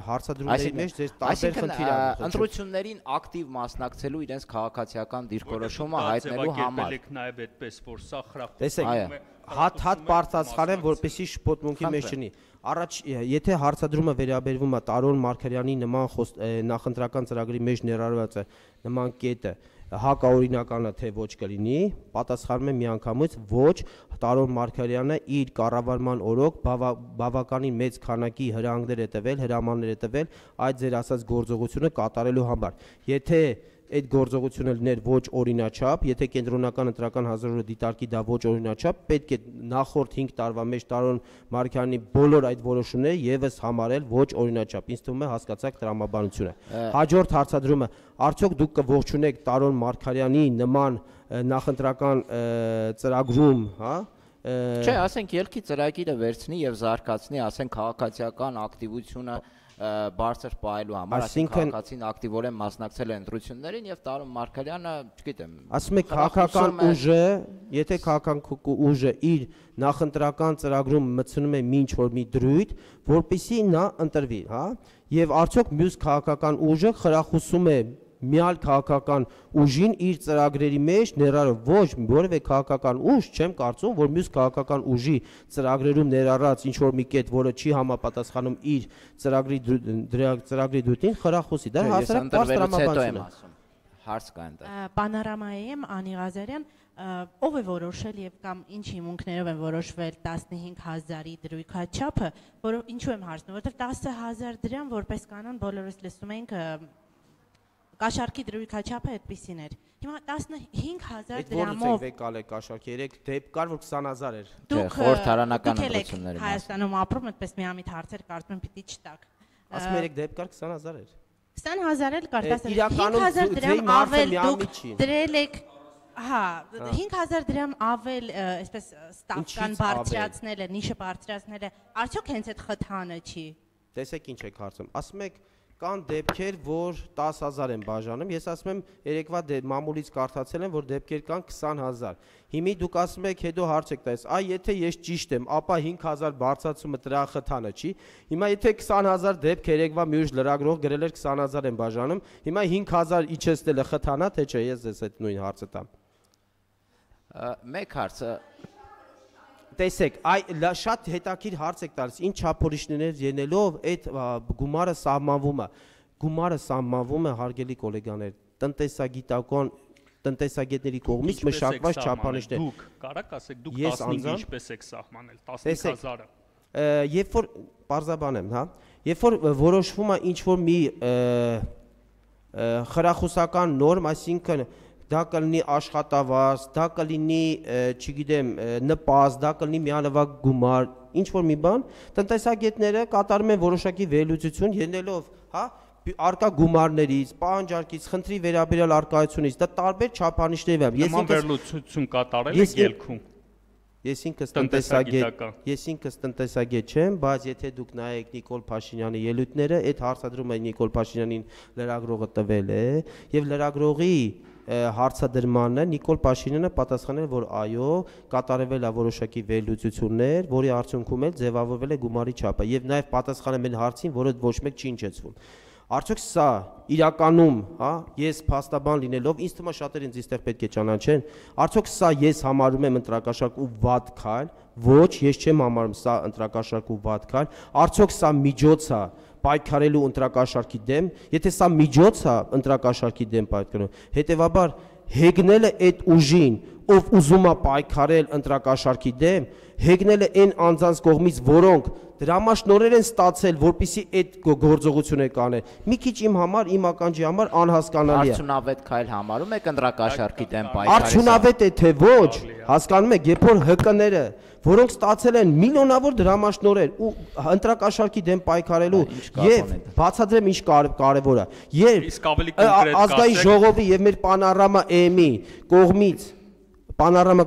հարցադրումների մեջ ձեր տարբեր խնդիր են։ Ընտրություններին ակտիվ մասնակցելու իրենց քաղաքացիական դիրքորոշումը հայտնելու համար։ Նաև այդպես որ սա խրախուսում։ Տեսեք, հատ-հատ բարձրացնեմ, որպեսզի շփոթմունքի մեջ չնի։ Առաջ, եթե հարցադրումը վերաբերվում է Տարոն Մարգարյանի նման նախընտրական ծրագրի մեջ ներառված է նման կետը, հակաօրինական է թե ոչ կլինի, պատասխանում եմ միանգամից ոչ, Տարոն Մարգարյանը իր կառավարման օրոք բավականին մեծ քանակի հրահանգներ է տվել, հրամաններ է տվել այդ ձեր ասած գործողությունը կատարելու համար։ Եթե այդ գործողությունը լիներ ոչ օրինաչափ, եթե կենտրոնական ընտրական հանձնաժողովը դիտարկի դա ոչ օրինաչափ, պետք է նախորդ հինգ տարվա մեջ Տարոն Մարգարյանի բոլոր այդ որոշումները եւս համարել ոչ օրինաչափ։ Ինձ թվում է հասկացաք տրամաբանությունը։ Հաջորդ հարցադրումը, արդյոք դուք կողջունեք Տարոն Մարգարյանի նման նախընտրական ծրագրում, հա? Չէ, ասենք ելքի ծրագիրը վերցնի եւ զարգացնի, ասենք քաղաքացիական ակտիվությունը բարձր պահելու համար, ասենք քաղաքացին ակտիվորեն մասնակցել է ընտրություններին եւ Տարոն Մարգարյանը, չգիտեմ, ասում եք քաղաքական ուժը, եթե քաղաքական ուժը իր նախընտրական ծրագրում մտցնում է ինչ որ մի դրույթ, որպեսզի նա ընտրվի, հա, եւ արդյոք մյուս քաղաքական ուժը խրախուսում է միալ քաղաքական ուժին իր ծրագրերի մեջ ներառով ոչ որևէ քաղաքական ուժ, չեմ կարծում, որ մյուս քաղաքական ուժի ծրագրերում ներառած ինչ որ մի կետ, որը չի համապատասխանում իր ծրագրի ծրագրի դույթին, խրախուսի։ Դա հասարակ տրամաբանություն է։ Հարց կա այնտեղ։ Պանորամայի եմ Անի Ղազարյան, ով է որոշել եւ կամ ինչ հիմունքներով են որոշվել տասնհինգ հազարի դրույքաչափը, որը ինչու եմ հարցնում, որովհետեւ տասը հազար դրամ որպես կանոն բոլորս լսում ենք Կաշառքի դրույքաչափը այդպիսին էր։ Հիմա տասնհինգ հազար դրամով Այդ եկալ է կաշառքի, երեք դեպք կար, որ քսան հազար էր։ Դուք խորհրդարանական ընտրությունների Հայաստանում ապրում, այդպես միամիտ հարցեր կարծում եմ պիտի չտակ։ Ասում երեք դեպք կար քսան հազար էր։ քսան հազար էլ կար, իրականում հինգ հազար դրամ ավել դուք չի։ դրել եք, հա, հինգ հազար դրամ ավել, այսպես ստավկան բարձրացնելը, նիշը բարձրացնելը, արդյոք հենց այդ խթանը չի։ Տեսեք ինչ եք հարցում։ Ասում եք կան դեպքեր, որ տասը հազար են բաժանում, ես ասում եմ երեկվա մամուլից կարդացել եմ, որ դեպքեր կան քսան հազար։ Հիմի դուք ասում եք հետո հարց եք տալիս, այ եթե ես ճիշտ եմ, ապա հինգ հազար բարձրացումը դրա խթանը չի։ Հիմա եթե քսան հազար դեպք երեկվա մի ուժ լրագրող գրել էր քսան հազար են բաժանում, հիմա հինգ հազար իջեցնելը խթանա, թե չէ, ես ես այդ նույն հարցը տամ։ Մեկ հարցը Տեսեք, այ շատ հետաքրքիր հարց եք տալիս, ինչ չափորոշիչներ ելնելով այդ գումարը սահմանվում է։ Գումարը սահմանվում է, հարգելի գոլեգաներ, տնտեսագիտական տնտեսագետների կողմից մշակված չափանիշներ։ Դուք կարաք ասեք, դուք տասնհինգ ինչպես եք սահմանել, տասնհինգ հազարը։ Երբ որ պարզաբանեմ, հա, երբ որ որոշվում է ինչ որ մի խրախուսական նորմ, այսինքն դա կլինի աշխատավարձ, դա կլինի, չգիտեմ, նպաստ, դա կլինի միանվագ գումար, ինչ որ մի բան, տնտեսագետները կատարում են որոշակի վերլուծություն ելնելով, հա, արկա գումարներից, պահանջարկից, խնդրի վերաբերյալ արկայությունից, դա տարբեր չափանիշներ են։ Նման վերլուծություն կատարել եք ելքում։ Ես ինքս տնտեսագետ, ես ինքս տնտեսագետ չեմ, բայց եթե դուք նայեք Նիկոլ Փաշինյանի ելույթները, այդ հարցադրումը Նիկոլ Փաշինյանին լրագրողը տվել է, եւ լրագրողի հարցադրմանը Նիկոլ Փաշինյանը պատասխանել, որ այո, կատարվել է որոշակի վերլուծություններ, որի արդյունքում էլ ձևավորվել է գումարի չափը, եւ նաեւ պատասխանել են հարցին, որը ոչ մեկ չի հնչեցվում։ Արդյոք սա իրականում, հա, ես փաստաբան լինելով, ինձ թվում է շատերը ինձ այստեղ պետք է ճանաչեն, արդյոք սա ես համարում եմ ընտրակաշառք ու վատ քայլ, ոչ, ես չեմ համարում սա ընտրակաշառք ու վատ քայլ, արդյոք սա միջոց է պայքարելու ընտրակաշառքի դեմ, եթե սա միջոց է ընտրակաշառքի դեմ պայքարելու, հետևաբար հեգնելը այդ ուժին, ով ուզում է պայքարել ընտրակաշառքի դեմ, հեգնելը այն անձանց կողմից, որոնք դրամաշնորհեր են ստացել, որպեսզի այդ գործողությունը կանեն։ Մի քիչ իմ համար, իմ ականջի համար անհասկանալի է։ Արդյունավետ քայլ համարում եք ընտրակաշառքի դեմ պայքարել։ Արդյունավետ է թե ոչ, հասկանում եք, երբ որ ՀԿ-ները, որոնք ստացել են միլիոնավոր դրամաշնորհեր ու ընտրակաշառքի դեմ պայքարելու եւ բացատրեմ ինչ կարեւոր է։ Երբ ազգային ժողովի եւ մեր Պանորամա էմի կողմից Պանորամա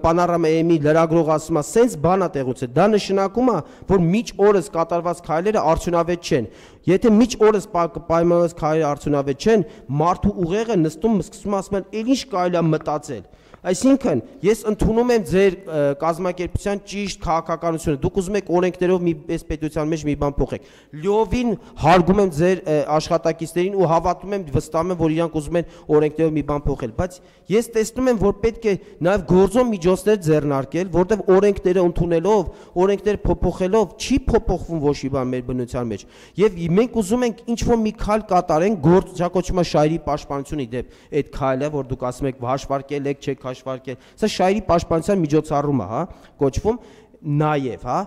Պանորամա էմի լրագրող ասում է, սենց բան է տեղուցել, դա նշանակում է, որ միջ օրս կատարված քայլերը արդյունավետ չեն։ Եթե միջ օրս պայմանավորված քայլերը արդյունավետ չեն, մարդու ուղեղը նստում սկսում ասում են, «Էլ ինչ կարելի է մտածել»։ Այսինքն, ես ընդունում եմ ձեր կազմակերպության ճիշտ քաղաքականությունը, դուք ուզում եք օրենքներով մի այս պետության մեջ մի բան փոխեք։ Լիովին հարգում եմ ձեր աշխատակիցներին ու հավատում եմ, վստահում եմ, որ իրանք ուզում են օրենքներով մի բան փոխել, բայց ես տեսնում եմ, որ պետք է նաև գործոն միջոցներ ձեռնարկել, որտեղ օրենքները ընդունելով, օրենքները փոփոխելով չի փոփոխվում ոչ մի բան մեր բնության մեջ։ Եվ մենք ուզում ենք ինչ-որ մի քայլ կատարենք, գործ շահերի պաշտպանությունի դեպ այդ քայլը, որ դուք ասում եք հաշվարկել եք, չեք հաշվարկել, սա շահերի պաշտպանության միջոցառում է, հա, կոչվում նաև, հա,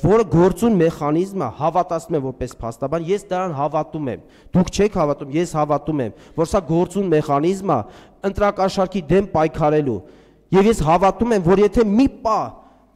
որը գործուն մեխանիզմը հավատացնում եմ որպես փաստաբան, ես դրան հավատում եմ, դուք չեք հավատում, ես հավատում եմ, որ սա գործուն մեխանիզմ է ընտրակաշառքի դեմ պայքարելու, եւ ես հավատում եմ, որ եթե մի պա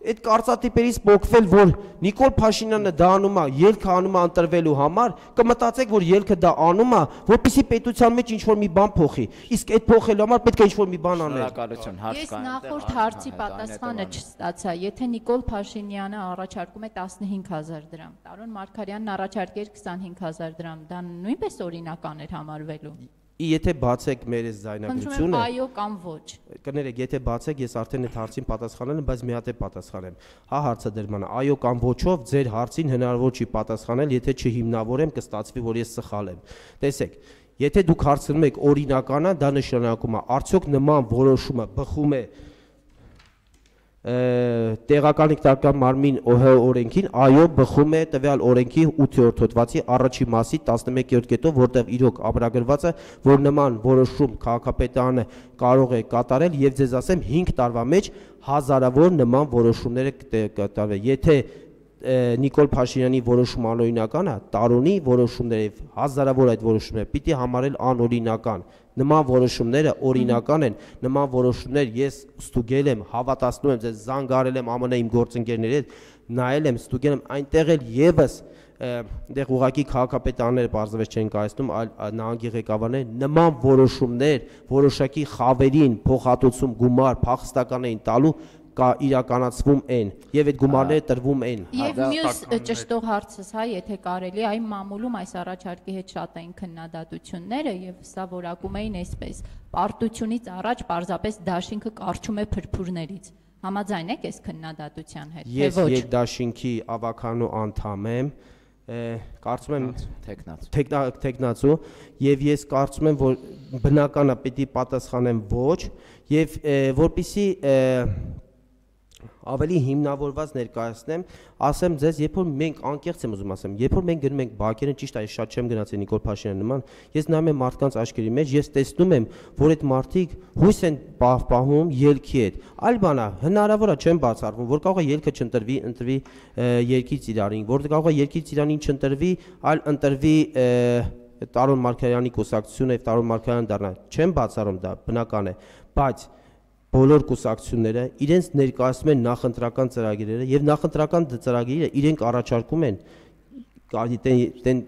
այդ կարծատիպերից փոխվել, որ Նիկոլ Փաշինյանը դա անում է, ելքը անում է ընտրվելու համար, կմտածեք, որ ելքը դա անում է, որպեսզի պետության մեջ ինչ-որ մի բան փոխի։ Իսկ այդ փոխելու համար պետք է ինչ-որ մի բան անել։ Շնորհակալություն, հարց Ես նախորդ հարցի պատասխանը չստացա, եթե Նիկոլ Փաշինյանը առաջարկում է տասնհինգ հազար դրամ, Տարոն Մարգարյանն առաջարկեր քսանհինգ հազար դրամ, դա նույնպես օրինական էր համարվելու։ Եթե բացեք մեր այս ձայնագրությունը, այո կամ ոչ։ Կներեք, եթե բացեք, ես արդեն այդ հարցին պատասխանել եմ, բայց մի հատ է պատասխանեմ։ Հա հարցը դրման է, այո կամ ոչով ձեր հարցին հնարավոր չի պատասխանել, եթե չհիմնավորեմ, կստացվի, որ ես սխալ եմ։ Տեսեք, եթե դուք հարցնում եք օրինական է, դա նշանակում է, արդյոք նման որոշումը բխում է տեղական ինքնիշխանական մարմին ՕՀ օրենքին, այո, բխում է տվյալ օրենքի ութերորդ հոդվածի առաջի մասի տասնմեկերորդ կետով, որտեղ իրոք ամրագրված է, որ նման որոշում քաղաքապետարանը կարող է կատարել եւ ձեզ ասեմ հինգ տարվա մեջ հազարավոր նման որոշումները կատարվեն։ Եթե Նիկոլ Փաշինյանի որոշումը անօրինական է, Տարոնի որոշումները եւ հազարավոր այդ որոշումները պիտի համարել անօրինական։ Նման որոշումները օրինական են, նման որոշումներ ես ստուգել եմ, հավատացնում եմ, ձեզ զանգարել եմ ԱՄՆ իմ գործընկերների հետ, նայել եմ, ստուգել եմ, այնտեղ էլ եւս դեղ ուղակի քաղաքապետարները բարձրապես չեն կայացնում, այլ նահանգի ղեկավարները նման որոշումներ, որոշակի խավերին փոխհատուցում գումար փախստական էին տալու կա իրականացվում են եւ այդ գումարները տրվում են։ Եվ մյուս ճշտող հարցս, հա, եթե կարելի, այն մամուլում այս առաջարկի հետ շատ էին քննադատությունները եւ սա որակում էին այսպես. պարտությունից առաջ պարզապես դաշինքը կարճում է փրփուրներից։ Համաձայն եք այս քննադատության հետ, թե ոչ։ Ես երկդաշինքի ավականու անդամ եմ, կարծում եմ տեխնացու եւ ես կարծում եմ, որ բնական է պետք է պատասխանեմ ոչ եւ որպեսզի ավելի հիմնավորված ներկայացնեմ, ասեմ ձեզ, երբ որ մենք անկեղծ եմ ուզում ասեմ, երբ որ մենք գնում ենք բակերեն, ճիշտ է, շատ չեմ գնացել Նիկոլ Փաշինյանի նման, ես նայում եմ մարդկանց աչքերի մեջ, ես տեսնում եմ, որ այդ մարդիկ հույս են պահպանում ելքի հետ։ Այլ բան է, հնարավոր է չեմ բացառվում, որ կարող է ելքը չընտրվի, ընտրվի երկից Իրանին, որ կարող է երկից Իրանին չընտրվի, այլ ընտրվի Տարոն Մարգարյանի կուսակցությունը եւ Տարոն Մարգարյանը դառնա։ Չեմ բացառում դա, բնական է, բայց բոլոր կուսակցությունները իրենց ներկայացնում են նախընտրական ծրագրերը եւ նախընտրական ծրագրերը իրենք առաջարկում են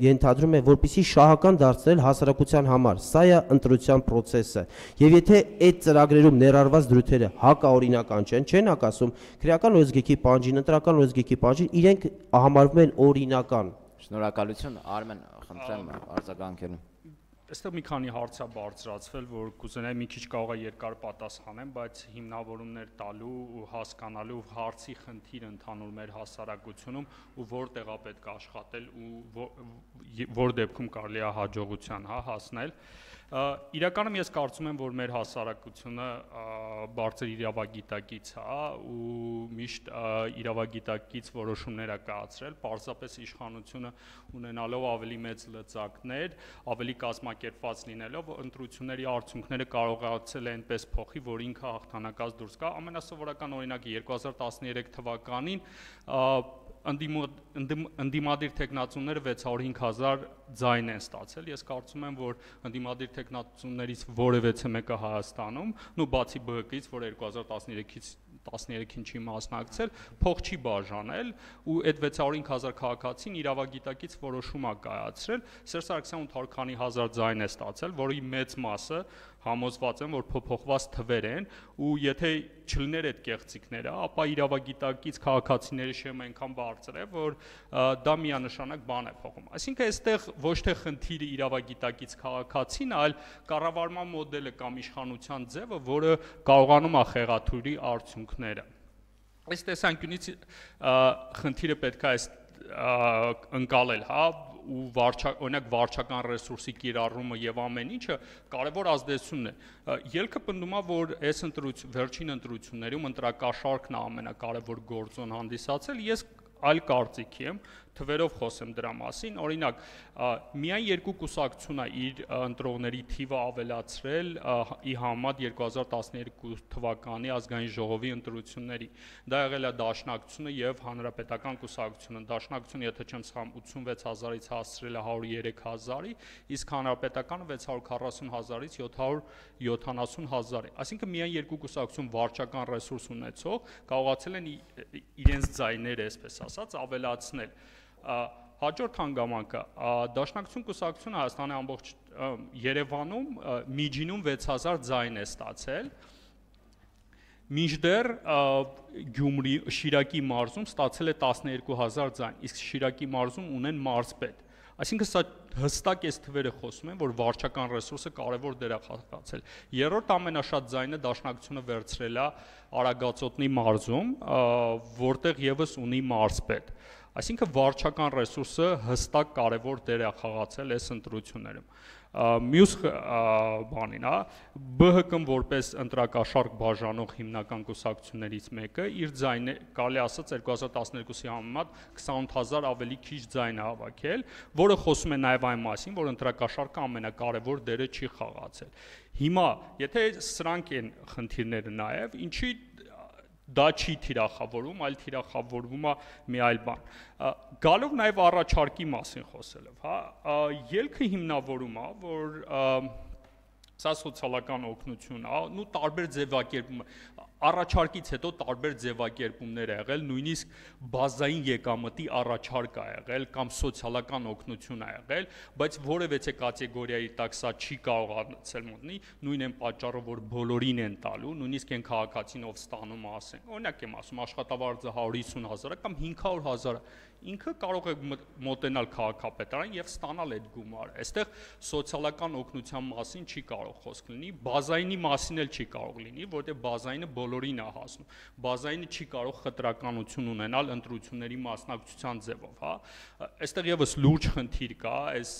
ենթադրում է որպեսզի շահական դարձնել հասարակության համար սա է ընտրության process-ը եւ եթե այդ ծրագրերում ներառված դրույթերը հակաօրինական չեն չեն հակասում քրեական օրենսգրքի պահանջին ընտրական օրենսգրքի պահանջին իրենք համարվում են օրինական։ Շնորհակալություն Արմեն, խնդրեմ արձագանքելու։ Այստեղ մի քանի հարց է բարձրացվել, որ կուզենայի մի քիչ կարող է երկար պատասխանեմ, բայց հիմնավորումներ տալու ու հասկանալու հարցի խնդիրը ընդհանուր մեր հասարակությունում ու որտեղ է պետք աշխատել ու որ դեպքում կարելի է հաջողության, հա, հասնել։ Իրականում ես կարծում եմ, որ մեր հասարակությունը բարձր իրավագիտակից է ու միշտ իրավագիտակից որոշումներ է կայացրել, պարզապես իշխանությունը ունենալով ավելի մեծ լծակներ, ավելի կազմակերպված լինելով, ընտրությունների արդյունքները կարողացել է այնպես փոխի, որ ինքը հաղթանակած դուրս գա։ Ամենասովորական օրինակը երկու հազար տասներեք թվականին ընդդիմադիր տեխնացուները վեց հարյուր հինգ հազար ձայն են ստացել։ Ես կարծում եմ, որ ընդդիմադիր տեխնացուներից որևէ մեկը Հայաստանում, նու բացի B H K-ից, որ երկու հազար տասներեքից տասներեքին չի մասնակցել, փող չի բաժանել ու այդ վեց հարյուր հինգ հազար քաղաքացին իրավագիտակից որոշում է կայացրել։ Սերժ Սարգսյանը ութ հարյուր քանի հազար ձայն է ստացել, որի մեծ մասը համոզված եմ, որ փոփոխված թվեր են ու եթե չլիներ այդ կեղծիքները, ապա իրավագիտակից քաղաքացիների շեմը այնքան բարձր է, որ դա միանշանակ բան է փոխում։ Այսինքն այստեղ ոչ թե խնդիրը իրավագիտակից քաղաքացին, այլ կառավարման մոդելը կամ իշխանության ձևը, որը կարողանում է խեղաթյուրի արդյունքները։ Այս տեսանկյունից խնդիրը պետք է ընկալել, հա, ու օրինակ վարչական ռեսուրսի կիրառումը եւ ամեն ինչը կարևոր ազդեցություն է։ Ելքը պնդում է, որ այս վերջին ընտրություններում ընտրակաշառքն է ամենակարևոր գործոն հանդիսացել, ես այլ կարծիքի եմ, թվերով խոսեմ դրա մասին, օրինակ միայն երկու կուսակցություն է իր ընտրողների թիվը ավելացրել ի համեմատ երկու հազար տասներկու թվականի ազգային ժողովի ընտրությունների։ Դա եղել է Դաշնակցությունը եւ Հանրապետական կուսակցությունը։ Դաշնակցությունը, եթե չեմ սխալվում, ութսունվեց հազարից հասցրել է հարյուր ու երեք հազարի, իսկ Հանրապետականը վեց հարյուր քառասուն հազարից յոթ հարյուր յոթանասուն հազարի։ Այսինքն միայն երկու կուսակցություն վարչական ռեսուրս ունեցող կարողացել են իրենց ձայները, այսպես ասած, ավելացնել։ Հաջորդ հանգամանքը Դաշնակցություն կուսակցությունը Հայաստանի ամբողջ Երևանում միջինում վեց հազար ձայն է ստացել, մինչդեռ Գյումրի Շիրակի մարզում ստացել է տասներկու հազար ձայն, իսկ Շիրակի մարզում ունեն մարզպետ։ Այսինքն սա հստակ այս թվերը խոսում են, որ վարչական ռեսուրսը կարևոր դեր է խաղացել։ Երրորդ ամենաշատ ձայնը Դաշնակցությունը վերցրել է Արագածոտնի մարզում, որտեղ եւս ունի մարզպետ։ Այսինքն վարչական ռեսուրսը հստակ կարևոր դեր է խաղացել այս ընտրություններում։ Մյուս բանին, հա, B H K-ն որպես ընտրակաշառք բաժանող հիմնական կուսակցություններից մեկը իր ձայնը, կարելի ասած երկու հազար տասներկուսի համեմատ քսանութ հազար ավելի քիչ ձայն է հավաքել, որը խոսում է նաև այն մասին, որ ընտրակաշառքը ամենակարևոր դերը չի խաղացել։ Հիմա, եթե սրանք են խնդիրները նաև, ինչի դա չի թիրախավորում, այլ թիրախավորվում է մի այլ բան։ Գալով նաև առաջարկի մասին խոսելով, հա, ելքը հիմնավորում է, որ սա սոցիալական օգնություն է, ու տարբեր ձևակերպում առաջարկից հետո տարբեր ձևակերպումներ ա եղել, նույնիսկ բազային եկամտի առաջարկ ա եղել կամ սոցիալական օգնություն ա եղել, բայց որևէ կատեգորիայի տակ սա չի կարողացել մտնի, նույն են պատճառը, որ բոլորին են տալու, նույնիսկ այն քաղաքացին, ով ստանում է, ասենք, օրինակ եմ ասում, աշխատավարձը հարյուր հիսուն հազար կամ հինգ հարյուր հազար, ինքը կարող է մոտենալ քաղաքապետարան եւ ստանալ այդ գումարը։ Այստեղ սոցիալական օգնության մասին չի կարող խոսք լինի, բազայինի մասին էլ չի կարող լինի, որտեղ բազայինը բոլորին է հասնում։ Բազայինը չի կարող խտրականություն ունենալ ընտրությունների մասնակցության ձևով, հա։ Այստեղ եւս լուրջ խնդիր կա այս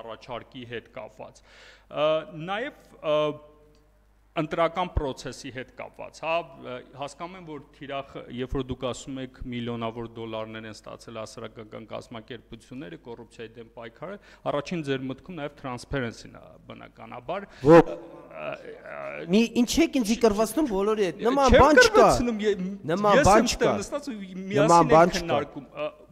առաջարկի հետ կապված։ Նաեւ ընտրական process-ի հետ կապված, հա, հասկանում եմ, որ թիրախ, երբ որ դուք ասում եք միլիոնավոր դոլարներ են ստացել հասարակական կազմակերպությունները, կոռուպցիայի դեմ պայքարը, առաջին ձեր մտքում նաև transparency-ն է բնականաբար։ Մի ինչ եք ինձ կրվածնում բոլորի հետ, նման բան չկա։ Նման բան չկա։ Նման բան չկա։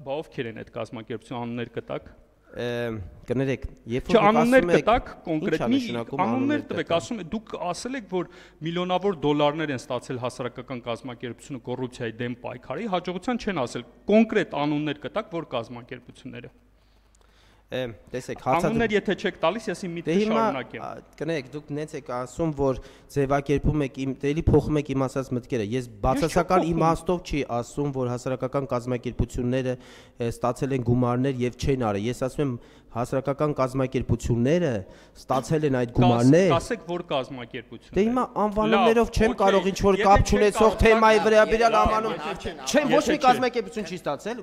Բա ովքեր են այդ կազմակերպության անուններ կտակ։ Կներեք, երբ որ անուններ կտակ կոնկրետ մի անուններ տվեք, ասում եք դուք ասել եք, որ միլիոնավոր դոլարներ են ստացել հասարակական կազմակերպությունը կոռուպցիայի դեմ պայքարի, հաջողության չեն ասել, կոնկրետ անուններ կտակ, որ կազմակերպությունները։ Տեսեք, անուններ եթե չեք տալիս, ես իմ միտքը շարունակեմ։ Կներեք, դուք նենց եք ասում, որ ձևակերպում եք իմ, դելի փոխում եք իմ ասած մտքերը։ Ես բացասական իմաստով չի ասում, որ հասարակական կազմակերպությունները ստացել են գումարներ եւ չեն արել։ Ես ասում եմ, հասարակական կազմակերպությունները ստացել են այդ գումարներ։ Կասեք, որ կազմակերպություններ։ Դե հիմա անվանումներով չեմ կարող ինչ որ կապ չունեցող թեմայի վրա բերալ անվանում։ Չեմ, ոչ մի կազմակերպություն չի ստացել,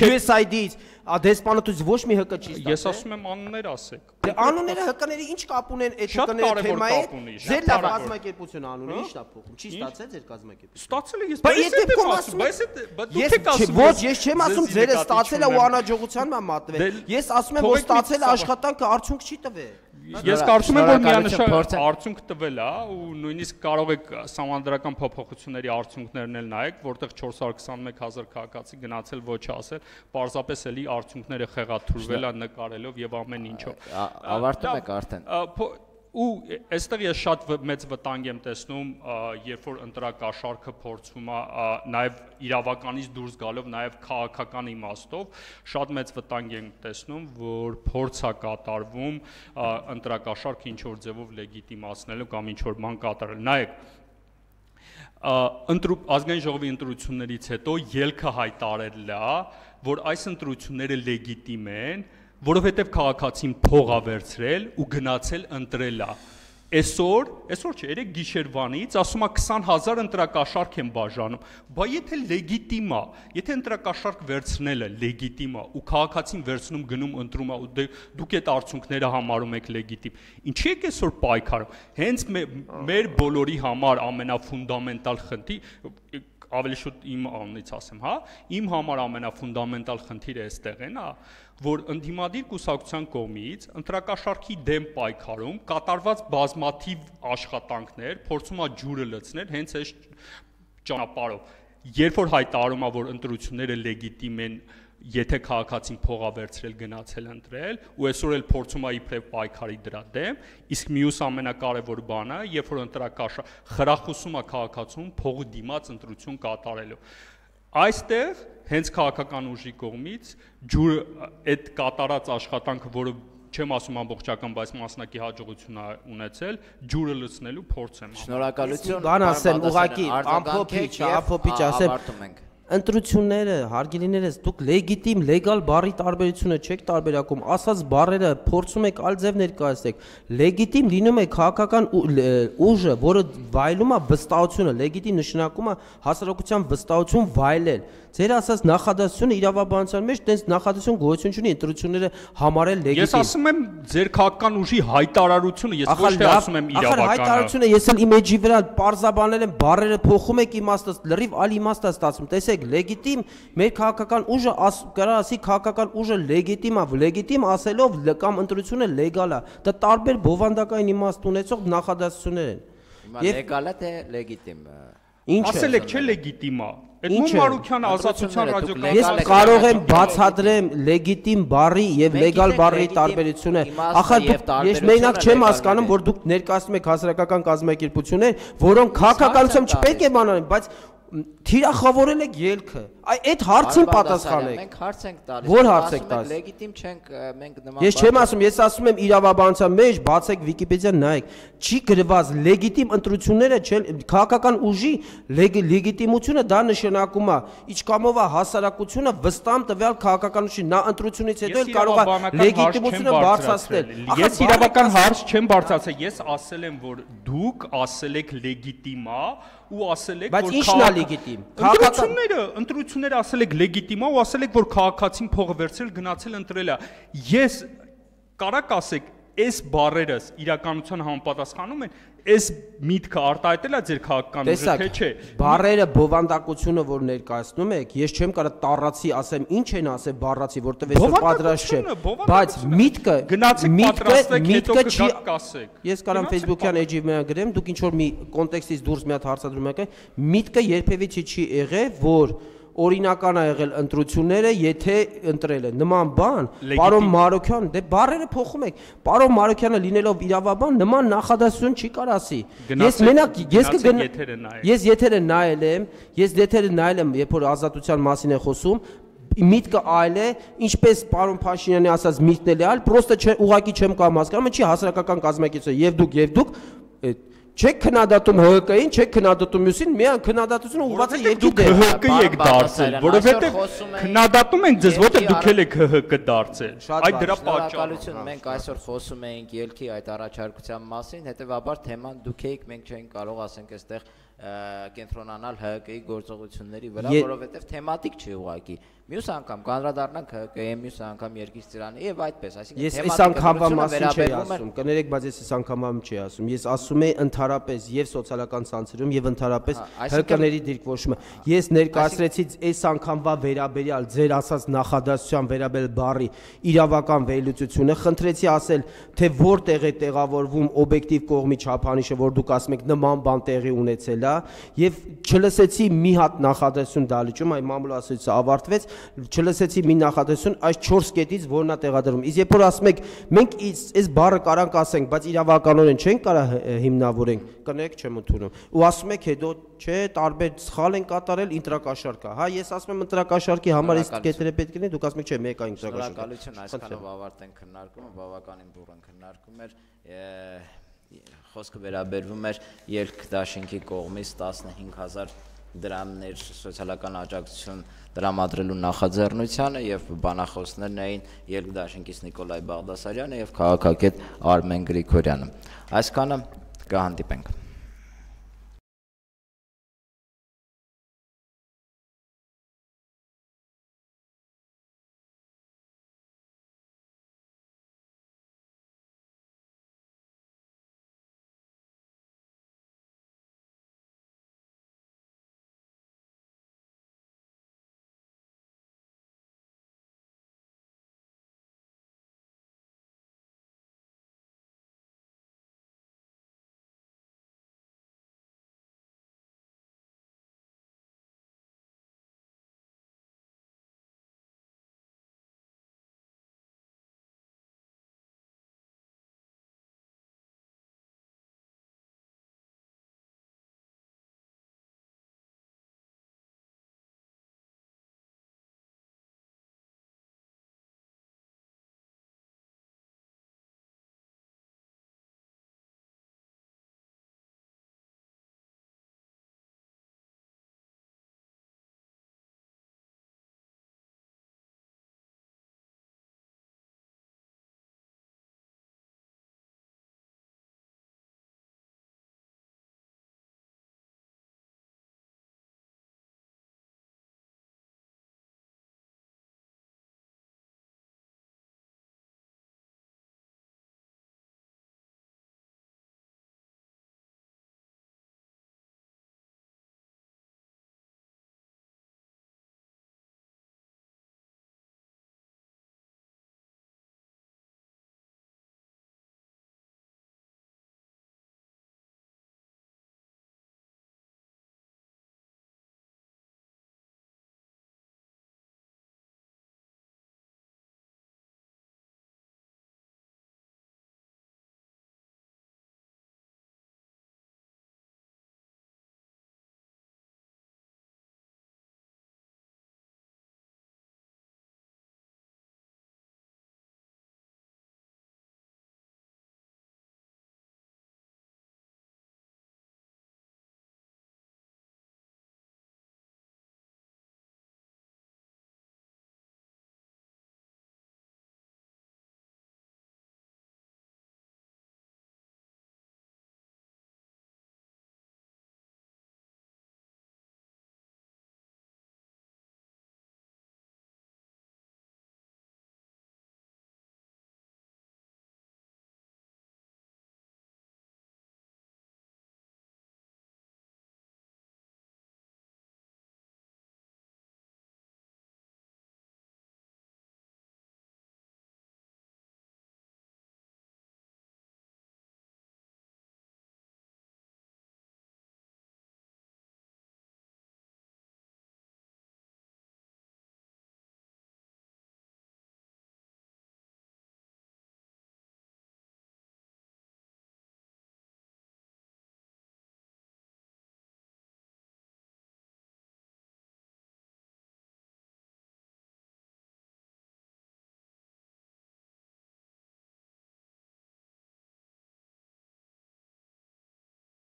U S A I D-ից, դեսպանատուց ոչ մի H K չի ստացել։ Ես ասում եմ անուններ ասեք։ Դե անունները H K-ների ինչ կապ ունեն այդ H K-ների թեմայի։ Ձեր լավ կազմակերպություն անունը ի՞նչ է փոխում։ Չի ստացել ձեր կազմակերպությունը։ Ստացել է ես։ Բայց եթե ասում բայց դուք ես եք ասում։ Ոչ, ես չեմ ասում ձերը ստացել է ու անհաջողության մա մատվել։ Ես ասում եմ, որ ստացել է աշխատանքը արդյունք չի տվել։ Ես կարծում եմ, որ միանշանակ արդյունք տվել է ու նույնիսկ կարող եք սահմանադրական փոփոխությունների արդյունքներն էլ նայեք, որտեղ չորս հարյուր քսանմեկ հազար քաղաքացի գնացել ոչ ասել, պարզապես էլի արդյունքները խեղաթյուրվել է նկարելով եւ ամեն ինչով։ Ավարտում եք արդեն։ Ու այստեղ ես շատ մեծ վտանգ եմ տեսնում, երբ որ ընտրակաշառքը փորձվում է նաև իրավականից դուրս գալով, նաև քաղաքական իմաստով, շատ մեծ վտանգ եմ տեսնում, որ փորձ է կատարվում ընտրակաշառքը ինչ որ ձևով լեգիտիմացնելու կամ ինչ որ բան կատարել։ Նայեք, ազգային ժողովի ընտրություններից հետո ելքը հայտարարել է, որ այս ընտրությունները լեգիտիմ են, որովհետև քաղաքացին փող ա վերցրել ու գնացել ընտրել ա։ Այսօր, այսօր չէ, երեք գիշերվանից ասում ա քսան հազար ընտրակաշառք են բաժանում, բա եթե լեգիտիմ ա, եթե ընտրակաշառք վերցնելը լեգիտիմ ա ու քաղաքացին վերցնում գնում ընտրում ա ու դուք այդ արդյունքները համարում եք լեգիտիմ, ինչի եք այսօր պայքարում։ Հենց մեր բոլորի համար ամենաֆունդամենտալ խնդիր, ավելի շուտ իմ անունից ասեմ, հա, իմ համար ամենաֆունդամենտալ խնդիրը այստեղ են, հա, որ ընդդիմադիր կուսակցության կողմից ընտրակաշառքի դեմ պայքարում կատարված բազմաթիվ աշխատանքներ փորձում է ջուրը լցնել հենց այս ճանապարհով։ Երբ որ հայտարարում է, որ ընտրությունները լեգիտիմ են, եթե քաղաքացին փող ա վերցրել գնացել ընտրել, ու այսօր էլ փորձում է իբրև պայքարի դրա դեմ, իսկ մյուս ամենակարևոր բանը, երբ որ ընտրակաշառք խրախուսում է քաղաքացուն փողի դիմաց ընտրություն կատարելու։ Այստեղ հենց քաղաքական ուժի կողմից ջուր այդ կատարած աշխատանքը, որը չեմ ասում ամբողջական, բայց մասնակի հաջողություն է ունեցել, ջուրը լցնելու փորձ եմ։ Շնորհակալություն։ Բան ասեմ, ուղղակի ամփոփիչ, ամփոփիչ ասեմ։ Ընտրությունները, հարգելիներս, դուք լեգիտիմ, լեգալ բառի տարբերությունը չեք տարբերակում, ասած բառերը փորձում եք այլ ձև ներկայացնեք։ Լեգիտիմ լինում է քաղաքական ուժը, որը վայելում է վստահությունը, լեգիտիմ նշանակում է հասարակության վստահություն վայելել։ Ձեր ասած նախադասությունը իրավաբանության մեջ տենց նախադասություն գոյություն չունի, ընտրությունները համարել լեգիտիմ։ Ես ասում եմ ձեր քաղաքական ուժի հայտարարությունը, ես ոչ թե ասում եմ իրավականը։ Ախր հայտարարությունը ես էլ իմեջի վրա պարզաբանել եմ, բառերը փոխում եք իմաստը, լրիվ այլ իմաստ է ստացվում։ Տեսեք, լեգիտիմ մեր քաղաքական ուժը կարա ասի քաղաքական ուժը լեգիտիմ է, լեգիտիմ ասելով կամ ընտրությունը լեգալ է։ Դա տարբեր բովանդակային իմաստ ունեցող նախադասություններ են։ Հիմա լեգալ է թե լեգիտիմ։ Ինչ ասել եք չէ լեգիտիմ է։ Էդմոն Մարուկյան ազատության ռադիոկայանի Ես կարող եմ բացատրեմ լեգիտիմ բառի եւ լեգալ բառի տարբերությունը։ Ախր ես մենակ չեմ հասկանում, որ դուք ներկայացնում եք հասարակական կազմակերպություններ, որոնք քաղաքականությամբ չպետք է բանանեն, բայց թիրախավորել եք ելքը։ Այդ հարցին պատասխանեք։ Մենք հարց ենք տալիս։ Որ հարց եք տալիս։ Լեգիտիմ չենք մենք նման։ Ես չեմ ասում, ես ասում եմ իրավաբանության մեջ, բացեք Վիկիպեդիան նայեք։ Չի գրված լեգիտիմ ընտրությունները չեն քաղաքական ուժի լեգիտիմությունը դա նշանակում է ինչքանով է հասարակությունը վստահ տվյալ քաղաքական ուժի նա ընտրությունից հետո էլ կարող է լեգիտիմությունը բարձրացնել։ Ես իրավական հարց չեմ բարձրացել, ես ասել եմ, որ դուք ասել եք լեգիտիմ է ու ասել եք, որ ինչն է լեգիտիմ։ Ընտրությունները, ընտրությունները ասել եք լեգիտիմ է ու ասել եք, որ քաղաքացին փողը վերցրել գնացել ընտրել է։ Ես կարակ ասեք, այս բառերս իրականության համապատասխանում են, այս միտքը արտահայտել է ձեր քաղաքական ուժը, թե չէ։ Բառերը բովանդակությունը, որ ներկայացնում եք, ես չեմ կարող տառացի ասեմ, ինչ են ասել բառացի, որտեղ այսօր պատրաստ չէ, բայց միտքը միտքը չի կասեք։ Ես կարամ Facebook-յան էջի մենակ գրեմ, դուք ինչ որ մի կոնտեքստից դուրս մի հատ հարցադրում եք, միտքը երբևիցի չի եղել, որ օրինական է եղել ընտրությունները, եթե ընտրել են նման բան, պարոն Մարուկյան, դե բառերը փոխում եք։ Պարոն Մարուկյանը լինելով իրավաբան նման նախադասություն չի կարող ասի։ Ես մենակ ես կգնամ ես եթերը նայել եմ, ես եթերը նայել եմ, երբ որ ազատության մասին է խոսում, միտքը այլ է, ինչպես պարոն Փաշինյանի ասած միտքն էլ է այլ, պրոստը ուղղակի չեմ կարող հասկանալ, չի հասարակական կազմակերպություն, եւ դուք եւ դուք Չեք քննադատում Հ Կ-ին, չեք քննադատում մյուսին, միան քննադատությունը ուղղված է երկի դեր։ Դուք Հ Կ եք դարձել, որովհետև քննադատում են ձեզ, որտեղ դուք էլ եք Հ Կ դարձել։ Այդ դրա պատճառը։ Մենք այսօր խոսում էինք ելքի այդ առաջարկության մասին, հետեւաբար թեման դուք եք, մենք չենք կարող ասենք այստեղ կենտրոնանալ Հ Կ-ի գործողությունների վրա, որովհետև թեմատիկ չի ուղղակի։ Մյուս անգամ կանրադառնանք Հ Կ-ի, մյուս անգամ Երկիր ծիրանի եւ այդպես, այսինքն ես այս անգամվա մասին չի ասում, կներեք, բայց ես այս անգամվա չի ասում։ Ես ասում եմ ընդհանրապես եւ սոցիալական ցանցերում եւ ընդհանրապես Հ Կ-ների դիրքորոշումը։ Ես ներկայացրեցի այս անգամվա վերաբերյալ ձեր ասած նախադասության վերաբերյալ բառի իրավական վերլուծությունը, խնդրեցի ասել, թե որտեղ է տեղավորվում օբյեկտիվ կողմի չափանիշը, որ դուք ասում եք նման բան տեղի ունեցել է, եւ չլսեցի մի հատ նախադասություն դալիճում, այ մամուլասույցը ավարտվեց, չլսեցի մի նախադասություն այս չորս կետից, որն է տեղադրվում։ Իսկ երբ որ ասում եք, մենք այս բառը կարանք ասենք, բայց իրավականորեն չենք կարող հիմնավորենք, կներեք, չեմ ընդունում։ Ու ասում եք հետո, չէ, տարբեր սխալ են կատարել, ինտրակաշարք է։ Հա, ես ասում եմ ինտրակաշարքի համար այս կետերը պետք է լինեն, դուք ասում եք, չէ, մեկ է ինտրակաշարք։ Շնորհակալություն, այսքանով ավարտենք քննարկումը, բավականին բուրըն քննարկում էր։ Խոսքը վերաբերվում էր ելք դաշինքի կողմից տասնհինգ հազար դրամներ սոցիալական աջակցություն տրամադրելու նախաձեռնությանը եւ բանախոսներն էին ելք դաշինքից Նիկոլայ Բաղդասարյանը եւ քաղաքագետ Արմեն Գրիգորյանը։ Այսքանը կհանդիպենք։